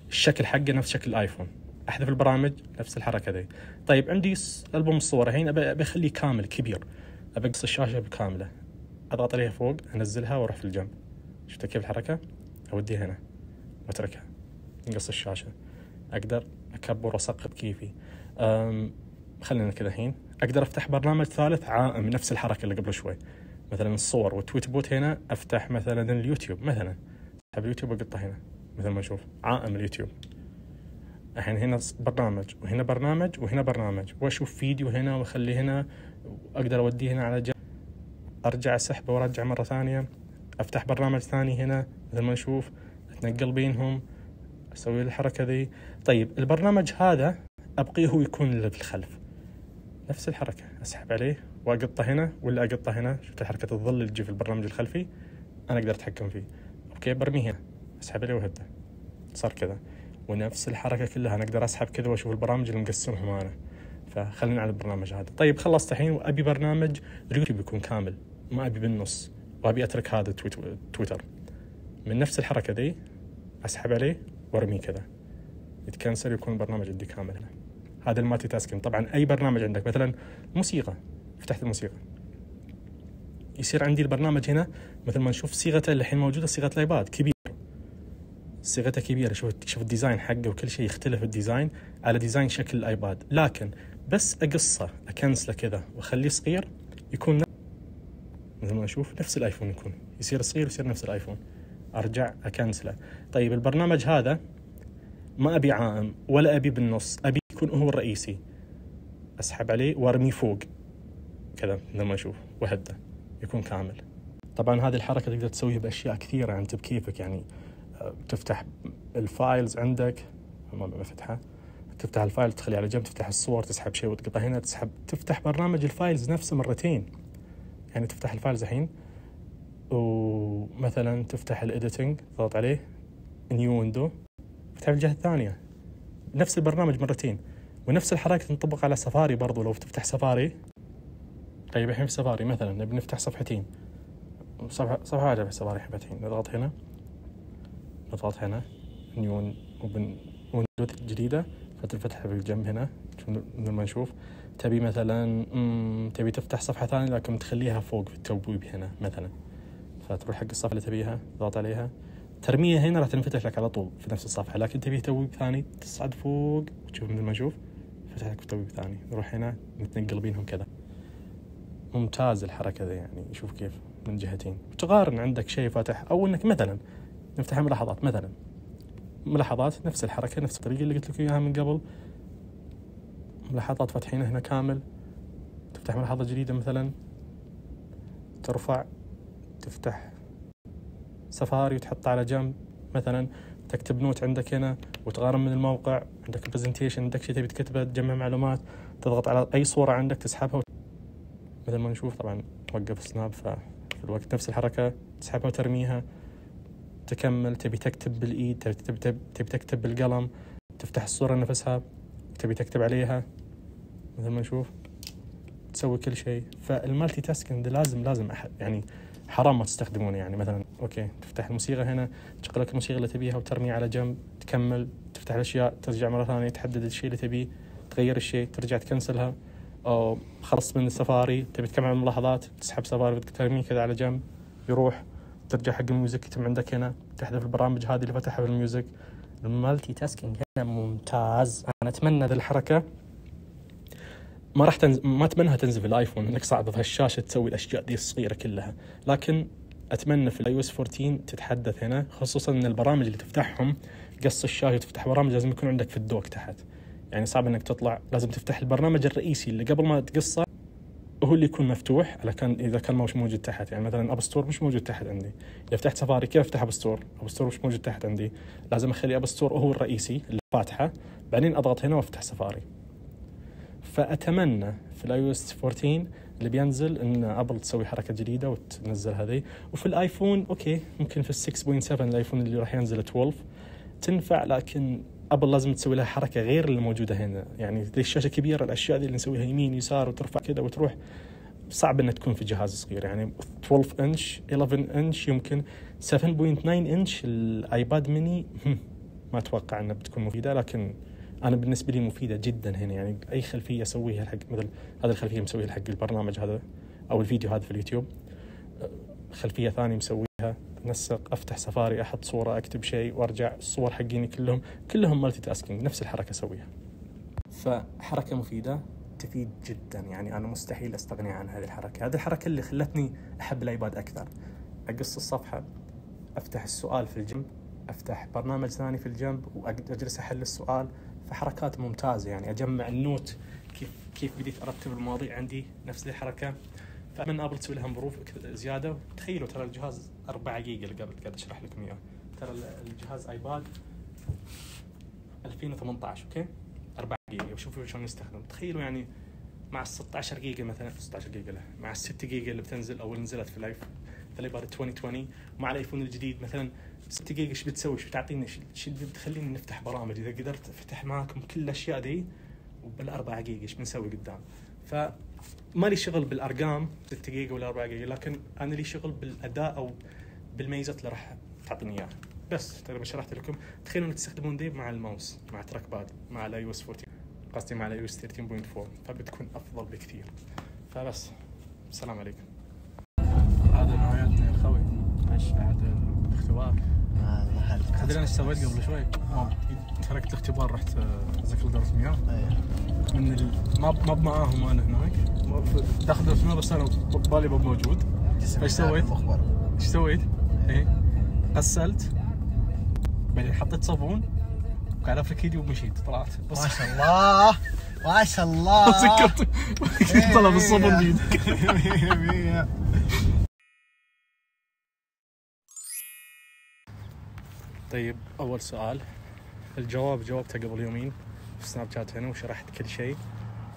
الشكل حقه نفس شكل الآيفون. أحذف البرامج نفس الحركة ذي. طيب عندي ألبوم الصور الحين، أبي أخليه كامل كبير، أبي أقص الشاشة بكاملة، أضغط عليها فوق، أنزلها وأروح في الجنب. شفت كيف الحركة؟ أوديها هنا وأتركها، نقص الشاشة. أقدر أكبر وأسقط كيفي. خلينا كذا. الحين أقدر أفتح برنامج ثالث عائم نفس الحركة اللي قبل شوي، مثلا الصور والتويت بوت هنا. أفتح مثلا اليوتيوب مثلا، أسحب اليوتيوب وأقطه هنا مثل ما أشوف عائم اليوتيوب. الحين هنا برنامج وهنا برنامج وهنا برنامج، وأشوف فيديو هنا وأخليه هنا، وأقدر أوديه هنا على جنب ارجع اسحبه وارجع مره ثانيه، افتح برنامج ثاني هنا مثل ما نشوف، اتنقل بينهم، اسوي الحركه ذي. طيب البرنامج هذا ابقيه هو يكون اللي في الخلف، نفس الحركه، اسحب عليه واقطه هنا ولا اقطه هنا. شفت حركه الظل اللي تجي في البرنامج الخلفي، انا اقدر اتحكم فيه. اوكي برميه هنا، اسحب عليه وهده، صار كذا. ونفس الحركه كلها انا اقدر اسحب كذا واشوف البرامج اللي مقسمهم انا. فخلينا على البرنامج هذا. طيب خلصت الحين وابي برنامج اليوتيوب يكون كامل، ما ابي بالنص، وابي اترك هذا تويتر. من نفس الحركه ذي اسحب عليه وارميه كذا، يتكنسل، يكون البرنامج عندي كامل هنا. هذا المالتي تاسكينج. طبعا اي برنامج عندك مثلا موسيقى، فتحت الموسيقى، يصير عندي البرنامج هنا مثل ما نشوف صيغته اللي الحين موجوده صيغه الايباد كبير، صيغته كبيره. شوف الديزاين حقه وكل شيء يختلف الديزاين على ديزاين شكل الايباد، لكن بس اقصه اكنسله كذا واخليه صغير يكون مثل ما نشوف نفس الايفون، يكون يصير صغير يصير نفس الايفون. ارجع اكنسله. طيب البرنامج هذا ما ابي عائم ولا ابي بالنص، ابي يكون هو الرئيسي، اسحب عليه وارميه فوق كذا مثل ما نشوف وهده، يكون كامل. طبعا هذه الحركه تقدر تسويها باشياء كثيره انت بكيفك، يعني تفتح الفايلز عندك، ما بفتحها، تفتح الفايل تخليه على جنب، تفتح الصور تسحب شيء وتقطع هنا، تفتح برنامج الفايلز نفسه مرتين. يعني تفتح الفايلز الحين ومثلا تفتح الإديتنج، تضغط عليه نيو ويندو، تفتح الجهة الثانية نفس البرنامج مرتين. ونفس الحركة تنطبق على سفاري برضو، لو تفتح سفاري. طيب الحين في سفاري مثلا نبي نفتح صفحتين، صفحة واحدة في سفاري حبتين، نضغط هنا، نضغط هنا نيو ويندو جديدة، فتفتح في الجنب هنا مثل ما نشوف. تبي مثلا تبي تفتح صفحة ثانية لكن تخليها فوق في التبويب هنا مثلا، فتروح حق الصفحة اللي تبيها تضغط عليها، ترميها هنا راح تنفتح لك على طول في نفس الصفحة. لكن تبي تبويب ثاني تصعد فوق وتشوف مثل ما نشوف فتح لك تبويب ثاني، نروح هنا نتنقل بينهم كذا. ممتاز الحركة ذي، يعني شوف كيف من جهتين. وتقارن عندك شيء فاتح، أو إنك مثلا نفتح ملاحظات، مثلا ملاحظات نفس الحركة نفس الطريقة اللي قلت لك إياها من قبل. ملاحظات فاتحين هنا كامل، تفتح ملاحظة جديدة مثلا، ترفع تفتح سفاري وتحطها على جنب، مثلا تكتب نوت عندك هنا وتقارن من الموقع، عندك برزنتيشن، عندك شيء تبي تكتبه، تجمع معلومات، تضغط على أي صورة عندك تسحبها مثل ما نشوف. طبعا وقف سناب، ففي الوقت نفس الحركة تسحبها وترميها، تكمل. تبي تكتب بالإيد، تبي تكتب بالقلم، تفتح الصورة نفسها تبي تكتب عليها مثل ما نشوف، تسوي كل شيء. فالمالتي تاسكينج لازم يعني حرام ما تستخدمونه. يعني مثلا اوكي تفتح الموسيقى هنا، تشغل لك الموسيقى اللي تبيها وترمي على جنب، تكمل، تفتح الاشياء، ترجع مرة ثانية تحدد الشيء اللي تبيه، تغير الشيء، ترجع تكنسلها. او خلص من السفاري تبي تكمل الملاحظات، تسحب سفاري ترميه كذا على جنب يروح، ترجع حق الميوزك يتم عندك هنا، تحذف البرامج هذه اللي فتحها في الميوزك. المالتي تاسكينج هنا ممتاز. انا اتمنى ذي الحركه ما اتمنىها تنزل في الايفون، انك صعب في هالشاشه تسوي الاشياء دي الصغيره كلها، لكن اتمنى في الاي او اس 14 تتحدث هنا، خصوصا ان البرامج اللي تفتحهم قص الشاشه، تفتح برامج لازم يكون عندك في الدوك تحت. يعني صعب انك تطلع، لازم تفتح البرنامج الرئيسي اللي قبل ما تقصه، هو اللي يكون مفتوح على كان اذا كان مش موجود تحت. يعني مثلا اب ستور مش موجود تحت عندي، اذا فتحت سفاري كيف افتح اب ستور مش موجود تحت عندي، لازم اخلي اب ستور هو الرئيسي اللي فاتحه، بعدين اضغط هنا وافتح سفاري. فاتمنى في الاي او اس 14 اللي بينزل ان ابل تسوي حركه جديده وتنزل هذه. وفي الايفون اوكي ممكن في 6.7 الايفون اللي راح ينزل 12 تنفع، لكن ابل لازم تسوي لها حركه غير اللي موجوده هنا. يعني ذي الشاشه كبيره، الاشياء دي اللي نسويها يمين يسار وترفع كذا وتروح، صعب انها تكون في جهاز صغير. يعني 12 انش 11 انش يمكن 7.9 انش الايباد ميني ما اتوقع انها بتكون مفيده، لكن انا بالنسبه لي مفيده جدا هنا. يعني اي خلفيه اسويها حق مثل هذه الخلفيه مسويها حق البرنامج هذا او الفيديو هذا في اليوتيوب، خلفيه ثانيه مسويها، نسق، افتح سفاري، احط صوره، اكتب شيء وارجع، الصور حقيني كلهم مالتي تاسكينج، نفس الحركه اسويها. فحركه مفيده تفيد جدا، يعني انا مستحيل استغني عن هذه الحركه. هذه الحركه اللي خلتني احب الايباد اكثر. اقص الصفحه، افتح السؤال في الجنب، افتح برنامج ثاني في الجنب واجلس احل السؤال. فحركات ممتازه، يعني اجمع النوت، كيف بديت ارتب المواضيع عندي، نفس الحركه. فمن ابل تسوي لها امبروف زياده. تخيلوا ترى الجهاز 4 جيجا اللي قبل قاعد اشرح لكم اياه، ترى الجهاز ايباد 2018 اوكي 4 جيجا، وشوفوا شلون يستخدم. تخيلوا يعني مع 16 جيجا مثلا 16 جيجا له، مع 6 جيجا اللي بتنزل او نزلت في الايباد 2020 مع الايفون الجديد مثلا 6 جيجا، ايش بتسوي؟ ايش بتعطينا؟ ايش بتخلينا نفتح برامج؟ اذا قدرت افتح معكم كل الاشياء دي وبال4 جيجا ايش بنسوي قدام؟ فما لي شغل بالارقام 6 جيجا ولا 4 جيجا، لكن انا لي شغل بالاداء او بالميزات اللي راح تعطيني اياها. بس تقريبا شرحت لكم. تخيلوا انك تستخدمون دي مع الماوس مع تراك باد مع الاي او اس 14، قصدي مع الاي او اس 13.4، فبتكون افضل بكثير. فبس السلام عليكم. هذا نهايتنا يا خوي. ايش بعد الاختبار؟ تدري ايش سويت قبل شوي؟ تركت الاختبار رحت اذاكر دورة مياه. من ما معاهم انا هناك داخل دورة مياه، بس انا بالي مو موجود. ايش سويت؟ ايش سويت؟ ايه غسلت، بعدين حطيت صابون وقاعد افرك ايدي ومشيت طلعت. بس ما شاء الله ما شاء الله. سكرت طلع بالصابون بيدك. طيب اول سؤال جاوبته قبل يومين في سناب شات هنا وشرحت كل شيء.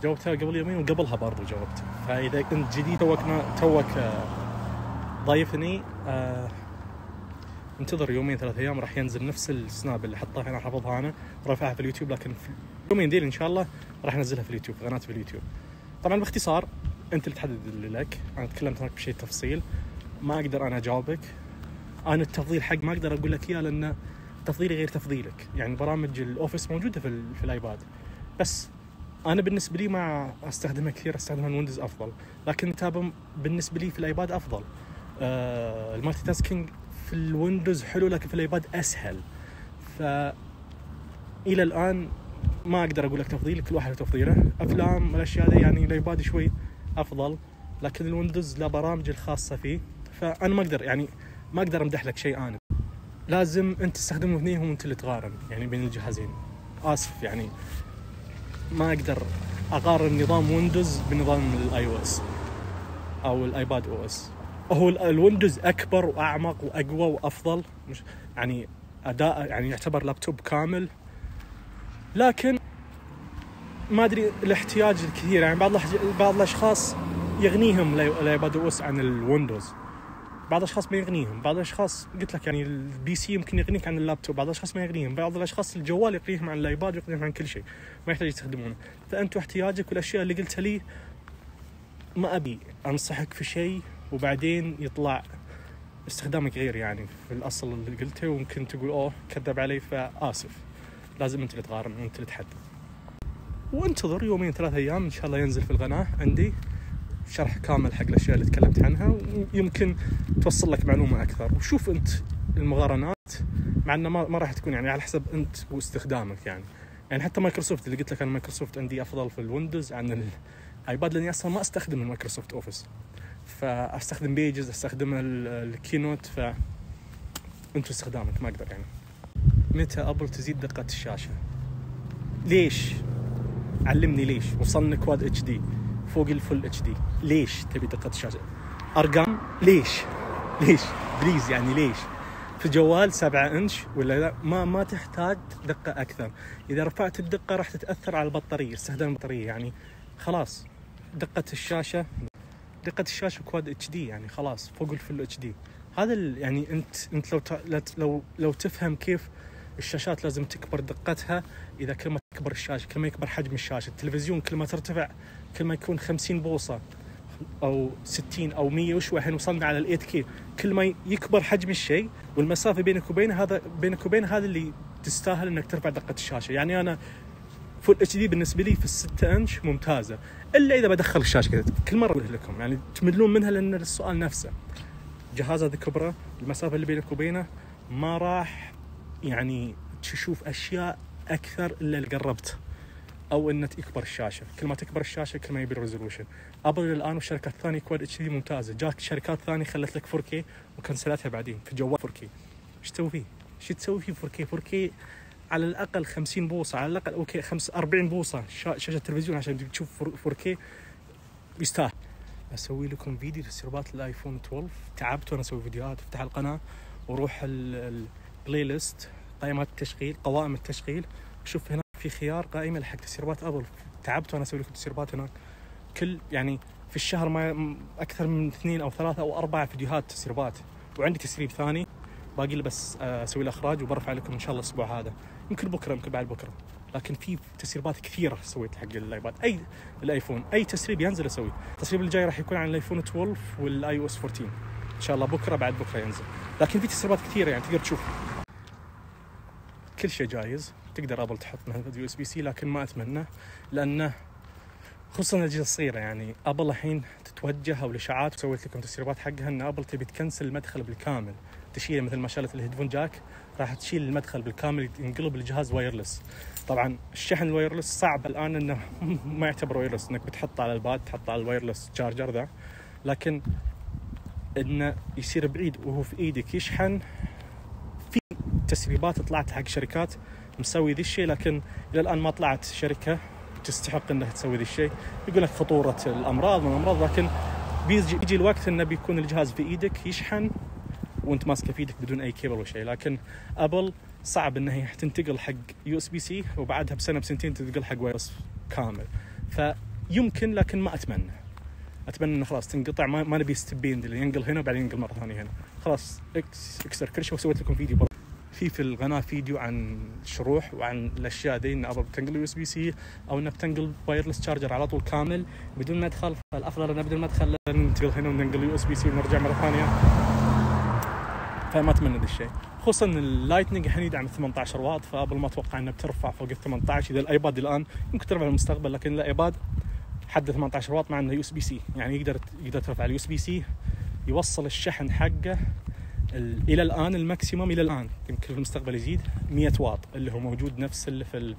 جاوبتها قبل يومين وقبلها برضو جاوبت. فاذا كنت جديد توك ضايفني انتظر يومين 3 ايام راح ينزل نفس السناب اللي حطها هنا حافظها انا ورافعها في اليوتيوب، لكن في يومين دي ان شاء الله راح انزلها في اليوتيوب، قناتي في اليوتيوب. طبعا باختصار انت اللي تحدد اللي لك. انا تكلمت هناك بشيء تفصيل ما اقدر انا اجاوبك. انا التفضيل حق ما اقدر اقول لك اياه لان تفضيلي غير تفضيلك. يعني برامج الاوفيس موجوده في الايباد، بس انا بالنسبه لي ما استخدمها كثير، استخدمها الويندوز افضل. لكن تابع بالنسبه لي في الايباد افضل. المالتي تاسكينج في الويندوز حلو لكن في الايباد اسهل. فالى الان ما اقدر اقول لك تفضيل، كل واحد تفضيله. افلام الاشياء دي يعني الايباد شوي افضل، لكن الويندوز له برامج الخاصه فيه. فانا ما اقدر امدح لك شيء. انا لازم انت تستخدمهم اثنينهم وانت اللي تقارن يعني بين الجهازين. اسف يعني ما اقدر اقارن نظام ويندوز بنظام الاي او اس او الايباد او اس. هو الويندوز اكبر واعمق واقوى وافضل، مش يعني اداء يعني يعتبر لابتوب كامل، لكن ما ادري الاحتياج الكثير. يعني بعض الاشخاص يغنيهم الايباد او اس عن الويندوز، بعض الاشخاص ما يغنيهم، بعض الاشخاص قلت لك يعني البي سي يمكن يغنيك عن اللابتوب، بعض الاشخاص ما يغنيهم، بعض الاشخاص الجوال يغنيهم عن الايباد ويغنيهم عن كل شيء، ما يحتاج يستخدمونه. فانتوا احتياجك والاشياء اللي قلتها لي ما ابي انصحك في شيء وبعدين يطلع استخدامك غير يعني في الاصل اللي قلته، وممكن تقول اوه كذب علي. فاسف، لازم انت اللي تقارن وانت اللي تحدد. وانتظر يومين 3 ايام ان شاء الله ينزل في القناه عندي شرح كامل حق الاشياء اللي تكلمت عنها، ويمكن توصل لك معلومه اكثر. وشوف انت المقارنات، مع انه ما راح تكون يعني على حسب انت واستخدامك. يعني حتى مايكروسوفت اللي قلت لك انا مايكروسوفت عندي افضل في الويندوز عن الايباد، لاني اصلا ما استخدم المايكروسوفت اوفيس، فاستخدم بيجز، استخدم الكينوت. فانت استخدامك ما اقدر يعني. متى ابل تزيد دقه الشاشه؟ ليش؟ علمني ليش. وصلنا كواد اتش دي فوق الفل اتش دي، ليش تبي دقه الشاشه؟ ارقام ليش بليز يعني ليش؟ في جوال 7 انش ولا لا ما تحتاج دقه اكثر. اذا رفعت الدقه راح تتاثر على البطاريه، استخدام البطاريه. يعني خلاص دقه الشاشه كواد اتش دي يعني خلاص فوق الفل اتش دي. هذا يعني انت لو تفهم كيف الشاشات لازم تكبر دقتها. اذا كل ما تكبر الشاشه كل ما يكبر حجم الشاشه. التلفزيون كل ما ترتفع كل ما يكون 50 بوصه او 60 او 100 وشوي. الحين وصلنا على ال 8K. كل ما يكبر حجم الشيء والمسافه بينك وبينه هذا اللي تستاهل انك ترفع دقه الشاشه. يعني انا فول اتش دي بالنسبه لي في 6 انش ممتازه، الا اذا بدخل الشاشه كذا. كل مره اقول لكم يعني تملون منها لان السؤال نفسه. جهاز هذا كبره، المسافه اللي بينك وبينه ما راح يعني تشوف اشياء اكثر الا اللي قربت، او انه يكبر الشاشه. كل ما تكبر الشاشه كل ما يبي الريزولوشن. ابل الان والشركات الثانيه كواد اتش دي ممتازه. جاك شركات ثانيه خلت لك 4K وكنسلتها بعدين في جوال 4K. ايش تسوي فيه؟ ايش تسوي فيه 4K على الاقل 50 بوصه، على الاقل اوكي 45 بوصه شاشه تلفزيون عشان تشوف 4K يستاهل. اسوي لكم فيديو تسريبات الايفون 12. تعبت وانا اسوي فيديوهات. افتح القناه وروح البلاي ليست، قائمه التشغيل، قوائم التشغيل، شوف هنا في خيار قائمه حق تسريبات ابل. تعبت وانا اسوي لكم تسريبات هناك. كل يعني في الشهر ما اكثر من 2 أو 3 أو 4 فيديوهات تسريبات، وعندي تسريب ثاني باقي لي بس اسوي الاخراج وبرفع لكم ان شاء الله الاسبوع هذا، يمكن بكره يمكن بعد بكره. لكن في تسريبات كثيره سويت حق الايباد، اي الايفون، اي تسريب ينزل اسوي. التسريب الجاي راح يكون عن الايفون 12 والاي او اس 14 ان شاء الله، بكره بعد بكره ينزل. لكن في تسريبات كثيره يعني تقدر تشوف. كل شيء جايز، تقدر ابل تحط مثلا يو اس بي سي، لكن ما اتمنى، لانه خصوصا الاجهزه الصغيره. يعني ابل الحين تتوجه او الاشاعات، وسويت لكم تسريبات حقها ان ابل تبي تكنسل المدخل بالكامل، تشيله مثل ما شالت الهيدفون جاك، راح تشيل المدخل بالكامل، ينقلب الجهاز وايرلس. طبعا الشحن الوايرلس صعب الان انه ما يعتبر وايرلس، انك بتحطه على الباد، تحطه على الوايرلس تشارجر ذا، لكن انه يصير بعيد وهو في ايدك يشحن. في تسريبات طلعت حق شركات مسوي ذي الشيء، لكن الى الان ما طلعت شركه تستحق انها تسوي ذي الشيء. يقول لك خطوره الامراض، لكن بيجي الوقت انه بيكون الجهاز في ايدك يشحن وانت ماسكه في ايدك بدون اي كيبل وشيء. لكن ابل صعب انها تنتقل حق يو اس بي سي وبعدها بسنه بسنتين تنتقل حق وايرلس كامل. فيمكن، لكن ما اتمنى انه خلاص تنقطع. ما نبي ستبين اللي ينقل هنا وبعدين ينقل مره ثانيه هنا. خلاص اكسر كل شيء. وسويت لكم فيديو في القناه فيديو عن شروح وعن الاشياء دي، ان ابل بتنقل يو اس بي سي او انها بتنقل وايرلس تشارجر على طول كامل بدون مدخل. فالافضل انه بدون مدخل ننتقل هنا وننقل يو اس بي سي ونرجع مره ثانيه. فما اتمنى ذا الشيء، خصوصا اللايتنينج الحين يدعم 18 واط، فابل ما اتوقع انها بترفع فوق ال 18. اذا الايباد الان يمكن ترفع في المستقبل، لكن الايباد حد 18 واط مع انه يو اس بي سي، يعني يقدر ترفع اليو اس بي سي، يوصل الشحن حقه الى الان الماكسيموم، الى الان يمكن في المستقبل يزيد 100 واط، اللي هو موجود نفس اللي في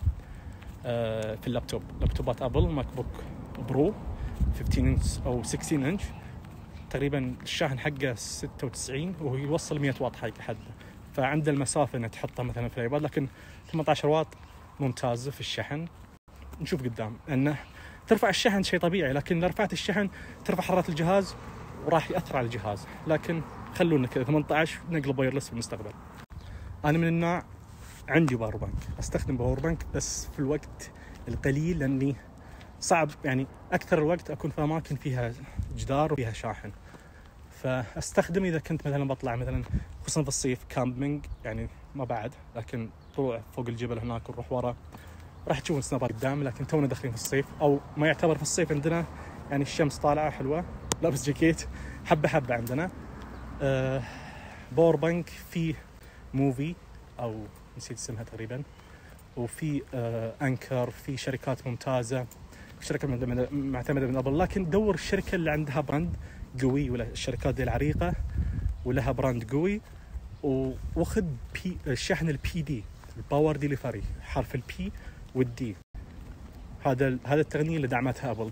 لابتوبات ابل، ماك بوك برو 15 انش او 16 انش تقريبا الشاحن حقه 96 وهو يوصل 100 واط حده. فعنده المسافه انه تحطها مثلا في الايباد، لكن 18 واط ممتاز في الشحن. نشوف قدام انه ترفع الشحن شيء طبيعي، لكن اذا رفعت الشحن ترفع حراره الجهاز وراح ياثر على الجهاز. لكن خلونا كذا 18 نقلب وايرلس في المستقبل. انا من النوع عندي باور بانك، استخدم باور بانك بس في الوقت القليل، لاني صعب يعني اكثر الوقت اكون في اماكن فيها جدار وفيها شاحن، فاستخدم اذا كنت مثلا بطلع مثلا خصوصا في الصيف كامبينج، يعني ما بعد، لكن طلوع فوق الجبل هناك ونروح ورا راح تشوفون سنابات قدام. لكن تونا داخلين في الصيف، او ما يعتبر في الصيف عندنا، يعني الشمس طالعه حلوه، لابس جاكيت حبه عندنا. باور بانك في موفي او نسيت اسمها تقريبا، وفي انكر، في شركات ممتازه، شركه معتمده من ابل. لكن دور الشركه اللي عندها براند قوي، ولا الشركات دي العريقه ولها براند قوي، واخذ الشحن البي دي، الباور ديليفري، حرف البي والدي. هذا التقنيه اللي دعمتها ابل،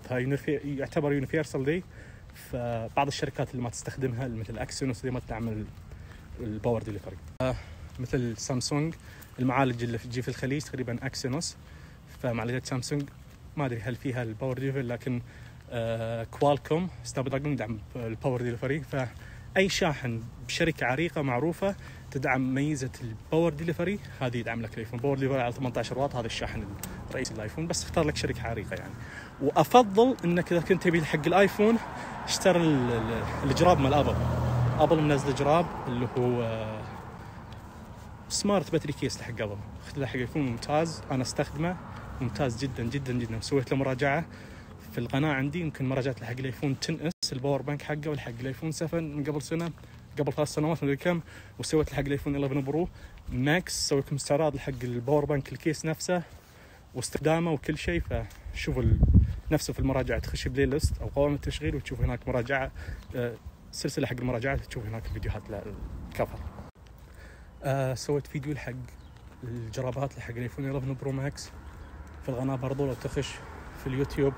يعتبر يونيفرسال دي. فبعض الشركات اللي ما تستخدمها مثل اكسينوس اللي ما تدعم الباور ديليفري، مثل سامسونج المعالج اللي تجي في الخليج تقريبا اكسينوس، فمعالجات سامسونج ما ادري هل فيها الباور ديليفري، لكن كوالكوم سناب دراجون يدعم الباور ديليفري. فاي شاحن بشركه عريقه معروفه تدعم ميزه الباور ديليفري، هذه يدعم لك الايفون. باور ديليفري على 18 واط، هذا الشاحن الرئيسي للايفون، بس اختار لك شركه عريقه يعني. وافضل انك اذا كنت تبي حق الايفون اشتري الجراب مال ابل منزل جراب اللي هو سمارت باتري كيس حق ابل، اخذ حق الايفون ممتاز، انا استخدمه ممتاز جدا جدا جدا. سويت له مراجعه في القناه عندي، يمكن مراجعه حق الايفون 10 اس الباور بانك حقه، والحق الايفون 7 من قبل سنه، قبل 3 سنوات ما ادري كم، وسويت حق الايفون 11 برو ماكس، سويت لكم استعراض حق الباور بانك الكيس نفسه واستخدامه وكل شيء. فشوفوا نفسه في المراجعه، تخش بلاي ليست او قوائم التشغيل وتشوف هناك مراجعه، سلسله حق المراجعات، تشوف هناك الفيديوهات للكفر. سويت فيديو حق الجرابات حق الايفون 11 برو ماكس في القناه برضو، لو تخش في اليوتيوب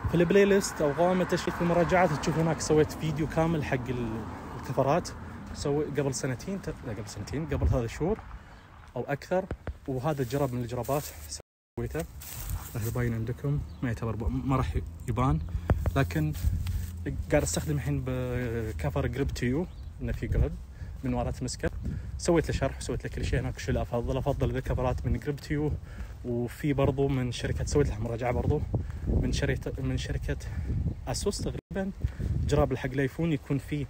في البلاي ليست او قوائم التشغيل في المراجعات تشوف هناك سويت فيديو كامل حق الكفرات. قبل سنتين، قبل 3 شهور او اكثر. وهذا الجراب من الجرابات سويته، راح يبين عندكم، ما يعتبر ما راح يبان، لكن قاعد استخدم الحين بكفر جريب تيو، انه في جريب من وراء تمسكه. سويت له شرح وسويت له كل شيء هناك. شو افضل ذا الكفرات من جريب تيو، وفي برضو من شركه سويت له مراجعه برضو من شركه اسوس تقريبا، جراب حق الايفون يكون فيه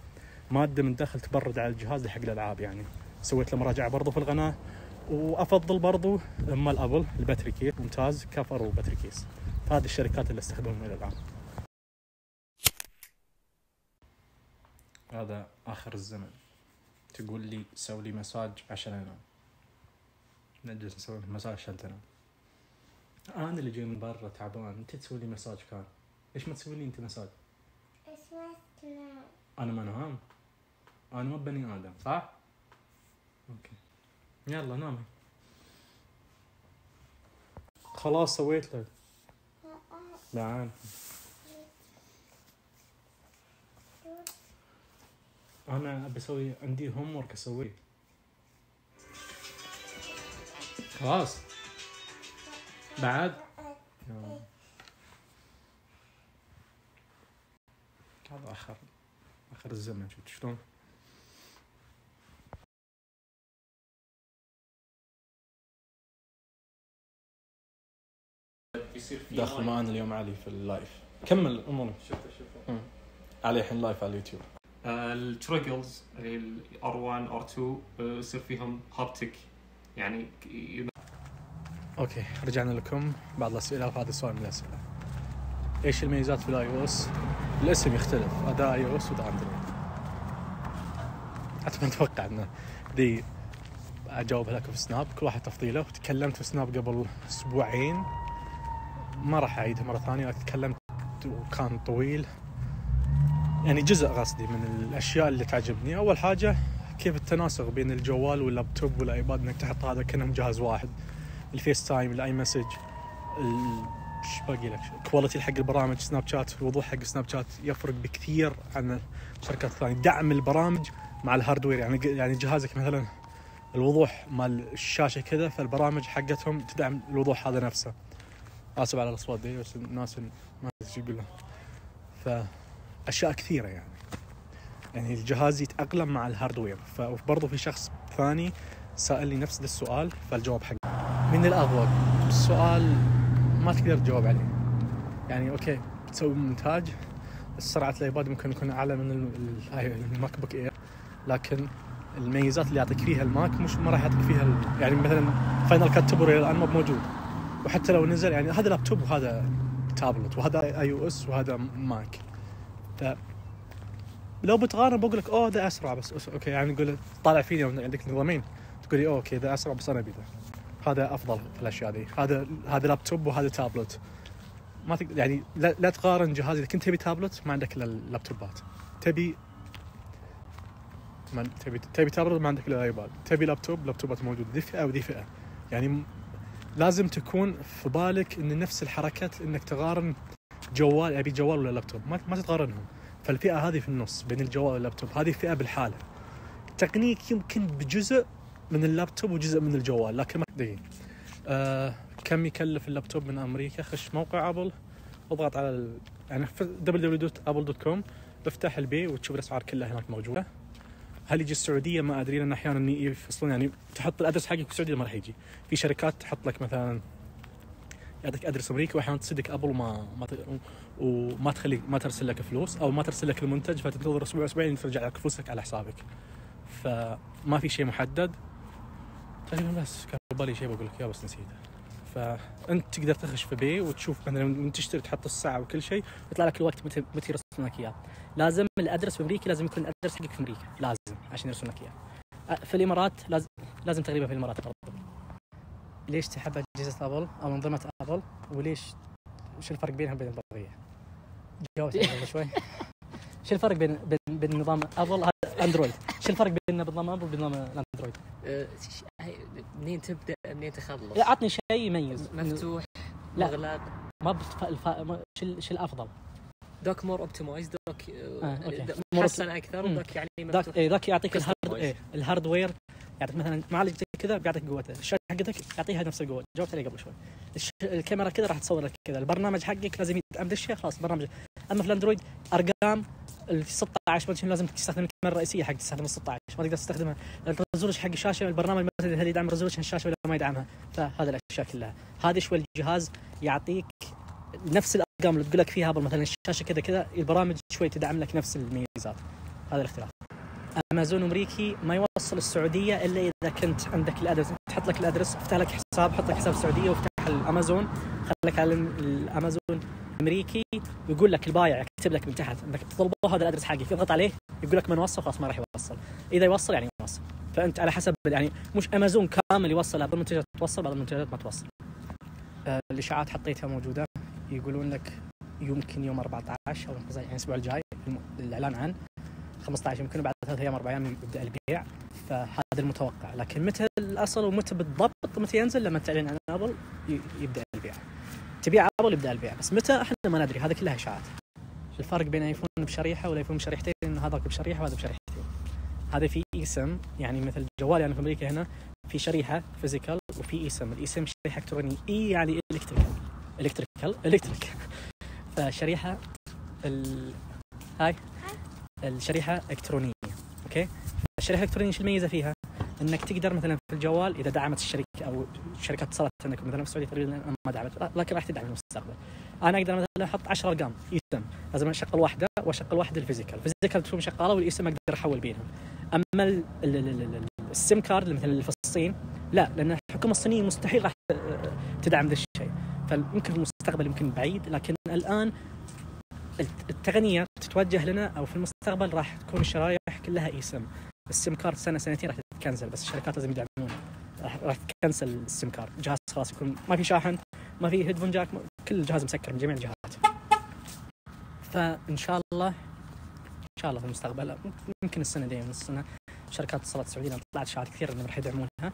ماده من داخل تبرد على الجهاز حق الالعاب يعني. سويت له مراجعه برضو في القناه. وافضل برضو مال ابل الباتري كيس ممتاز، كفر وباتري كيس. هذه الشركات اللي استخدمهم الى الان. هذا اخر الزمن. تقول لي سوي لي مساج عشان انام، نجلس نسوي مساج عشان تنام. انا اللي جاي من برا تعبان، انت تسوي لي مساج كان. ليش ما تسوي لي انت مساج؟ انا ما انام، انا ما بني ادم صح؟ اوكي يلا نامي. خلاص سويت لك. لا انا بسوي عندي هوم ورك اسويه. خلاص بعد هذا اخر الزمن. شفت شلون؟ داخل معنا اليوم علي في اللايف. كمل اموري. شوف علي الحين لايف على اليوتيوب. التريجلز اللي R1 R2 يصير فيهم هابتك يعني. اوكي رجعنا لكم بعض الاسئله، وهذا سؤال من الاسئله. ايش الميزات في الاي او اس؟ الاسم يختلف، اداء اي او اس واداء اندرويد. حتى ما اتوقع انه دي اجاوبها لكم في سناب، كل واحد تفضيله. وتكلمت في سناب قبل اسبوعين، ما راح اعيدها مره ثانيه. تكلمت وكان طويل يعني، جزء قصدي من الاشياء اللي تعجبني. اول حاجه كيف التناسق بين الجوال واللابتوب والايباد، انك تحط هذا كأنهم جهاز واحد. الفيس تايم، الاي مسج، ايش باقي لك، كواليتي حق البرامج، سناب شات، الوضوح حق سناب شات يفرق بكثير عن الشركات الثانيه. دعم البرامج مع الهاردوير يعني جهازك مثلا الوضوح مال الشاشه كذا، فالبرامج حقتهم تدعم الوضوح هذا نفسه. اسف على الاصوات دي بس الناس ما ايش يقول له. فاشياء كثيره يعني الجهاز يتاقلم مع الهاردوير. فبرضه في شخص ثاني سألني نفس السؤال، فالجواب حق من الأضواء السؤال ما تقدر تجاوب عليه يعني. اوكي بتسوي مونتاج، سرعه الايباد ممكن يكون اعلى من الماك بوك اير، لكن الميزات اللي يعطيك فيها الماك مش ما راح يعطيك فيها يعني مثلا فاينل كات تبر الان مو موجود. وحتى لو نزل يعني هذا لابتوب وهذا تابلت وهذا اي او اس وهذا ماك. لو بتقارن بقول لك ده اسرع بس اوكي يعني نقول طالع فيني عندك نظامين تقول لي اوكي ذا اسرع بس انا ابي هذا افضل في الاشياء دي. هذا لابتوب وهذا تابلت. ما تقدر يعني لا تقارن جهاز. اذا كنت تبي تابلت ما عندك الا اللابتوبات، تبي تابلت ما عندك الا الايباد، تبي لابتوبات موجود. ذي فئه وذي فئه يعني. لازم تكون في بالك ان نفس الحركات انك تقارن جوال ابي جوال ولا لابتوب، ما تقارنهم. فالفئه هذه في النص بين الجوال واللابتوب، هذه فئه بالحاله. تقنيك يمكن بجزء من اللابتوب وجزء من الجوال، لكن ما دقيق. كم يكلف اللابتوب من امريكا؟ خش موقع ابل، اضغط على يعني www.apple.com، افتح البي وتشوف الاسعار كلها هناك موجوده. هل يجي السعوديه؟ ما ادري، لان احيانا يفصلون يعني تحط الادرس حقك في السعوديه ما راح يجي. في شركات تحط لك مثلا يعطيك ادرس امريكي، واحيانا تصدق ابل وما تخليك ما ترسل لك فلوس او ما ترسل لك المنتج، فتنتظر اسبوعين ترجع لك فلوسك على حسابك. فما في شيء محدد تقريبا. بس كان بالي شيء بقول لك اياه بس نسيته. فانت تقدر تخش في بي وتشوف مثلا من تشتري تحط الساعه وكل شيء، يطلع لك الوقت متى يرسلون لك اياه. لازم الادرس في امريكا لازم يكون الادرس حقك في امريكا، لازم عشان يرسلون لك اياه. في الامارات لازم تقريبا في الامارات برضه. ليش تحب اجهزه ابل او انظمه ابل؟ وليش شو الفرق بينها وبين البقيه؟ جاوبت قبل شوي. شو الفرق بين نظام ابل هذا اندرويد؟ شو الفرق بين نظام ابل وبين نظام الاندرويد؟ منين تبدا منين تخلص؟ اعطني شيء يميز. مفتوح مغلق ما شو الافضل؟ دوك مور اوبتمايز، دوك محسن اكثر، ودوك يعني مفتوح. ذاك يعطيك الهاردوير، يعطيك مثلا معالج زي كذا بيعطيك قوته، الشاشه حقتك يعطيها نفس القوه. جاوبت عليه قبل شوي. الكاميرا كذا راح تصور لك كذا. البرنامج حقك لازم يدعم الشيء خلاص برنامج. اما في الاندرويد ارقام ال 16 مثلا لازم تستخدم الكاميرا الرئيسيه حق تستخدم ال 16، ما تقدر تستخدمها. الريزولوشن حق الشاشه البرنامج مثلا هل يدعم ريزولوشن الشاشه ولا ما يدعمها. فهذا الاشياء كلها هذه شوي الجهاز يعطيك نفس الارقام اللي تقول لك فيها مثلا الشاشه كذا كذا، البرامج شوي تدعم لك نفس الميزات. هذا الاختلاف. امازون امريكي ما يوصل السعوديه الا اذا كنت عندك الادرس، تحط لك الادرس، افتح لك حساب، حط لك حساب السعوديه وافتح الامازون، خليك على الامازون امريكي، ويقول لك البايع يكتب لك من تحت انك تطلبه هذا الادرس حقك، اضغط عليه يقول لك ما نوصل خلاص ما راح يوصل. اذا يوصل يعني يوصل. فانت على حسب يعني مش امازون كامل يوصل، بعض المنتجات توصل بعض المنتجات ما توصل. الاشاعات حطيتها موجوده، يقولون لك يمكن يوم 14 او يعني الاسبوع الجاي الاعلان عن 15 يمكن بعد 3 ايام 4 ايام يبدا البيع. فهذا المتوقع، لكن متى الاصل ومتى بالضبط متى ينزل لما تعلن عن ابل يبدا البيع. تبيع ابل يبدا البيع، بس متى احنا ما ندري. هذا كلها اشاعات. الفرق بين ايفون بشريحه والايفون بشريحتين انه هذاك بشريحه وهذا بشريحتين. هذا في اسم يعني مثل جوالي يعني في امريكا هنا في شريحه فيزيكال وفي اسم. الاسم شريحه الكترونيه، اي يعني الكتريكال فشريحه هاي الشريحه الكترونيه. اوكي، الشريحه الالكترونيه ايش الميزه فيها؟ انك تقدر مثلا في الجوال اذا دعمت الشركه او شركات اتصلت عندك مثلا في السعوديه تقريبا ما دعمت لكن راح تدعم في المستقبل. انا اقدر مثلا احط 10 ارقام اسم، لازم اشغل واحده واشغل واحده الفيزيكال تكون شغاله والاسم اقدر احول بينهم. اما السيم كارد مثلا اللي في الصين لا، لان الحكومه الصينيه مستحيل راح تدعم ذا الشيء. فيمكن في المستقبل يمكن بعيد، لكن الان التقنيه تتوجه لنا او في المستقبل راح تكون الشرايح كلها اسم. السيم كارد سنه سنتين راح تتكنسل، بس الشركات لازم يدعمون، راح تكنسل السيم كارد. الجهاز خلاص يكون ما في شاحن، ما في هيدفون جاك، كل الجهاز مسكر من جميع الجهات. فان شاء الله في المستقبل يمكن السنه دي من السنه شركات اتصالات السعوديه طلعت شهادات كثير انهم راح يدعمونها.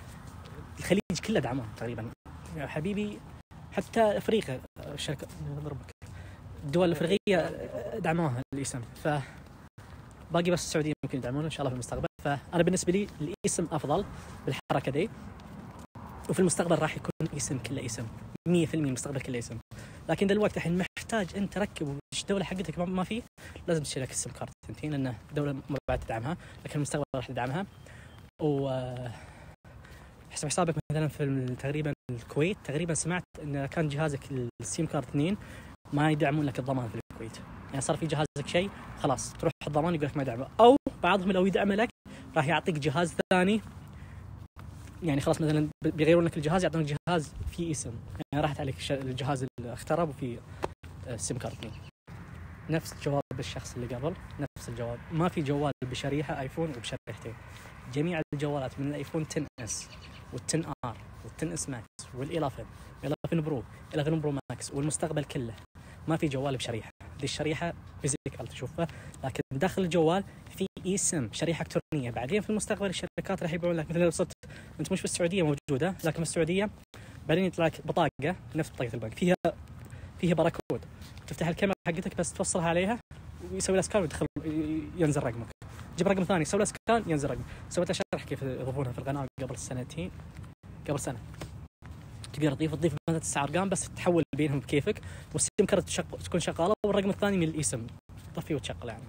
الخليج كله دعموها تقريبا يا حبيبي، حتى افريقيا الشركه الدول الافريقيه دعموها الاسم. باقي بس السعوديه ممكن يدعمونه ان شاء الله في المستقبل. فانا بالنسبه لي الاسم افضل بالحركه دي، وفي المستقبل راح يكون اسم كله اسم 100% المستقبل كله اسم. لكن دلوقتي الحين محتاج انت تركب الدوله حقتك ما فيه، لازم تشتري لك السم كارت ثنتين لان الدوله ما بعد تدعمها، لكن المستقبل راح تدعمها. و حسابك مثلا في تقريبا الكويت تقريبا سمعت ان كان جهازك السيم كارت 2 ما يدعمون لك الضمان في الكويت. يعني صار في جهازك شيء خلاص تروح الضمان يقول لك ما يدعمه، او بعضهم لو يدعم لك راح يعطيك جهاز ثاني. يعني خلاص مثلا بيغيرون لك الجهاز يعطونك جهاز فيه اسم، يعني راحت عليك الجهاز اللي اخترب وفي السيم كارت 2. نفس جواب الشخص اللي قبل، نفس الجواب. ما في جوال بشريحه ايفون وبشريحتين. جميع الجوالات من الايفون 10 اس وال10 ار وال10 اس ماكس وال11 برو 11 برو ماكس والمستقبل كله ما في جوال بشريحه. دي الشريحه فيزيكال تشوفها، لكن داخل الجوال في اسم شريحه الكترونيه. بعدين في المستقبل الشركات راح يبيعون لك مثلا لو صرت انت مش في السعوديه موجوده، لكن في السعوديه بعدين يطلع لك بطاقه نفس بطاقه البنك فيها باركود، تفتح الكاميرا حقتك بس توصلها عليها ويسوي لها سكان ويدخل ينزل رقمك. جيب رقم ثاني يسوي له سكان ينزل رقم. سويت شرح كيف يضيفونها في القناه قبل سنه. تقدر تضيف مثلا 9 ارقام بس تحول بينهم بكيفك، والسيم كارت تكون شغاله والرقم الثاني من الاسم تطفيه وتشغله يعني.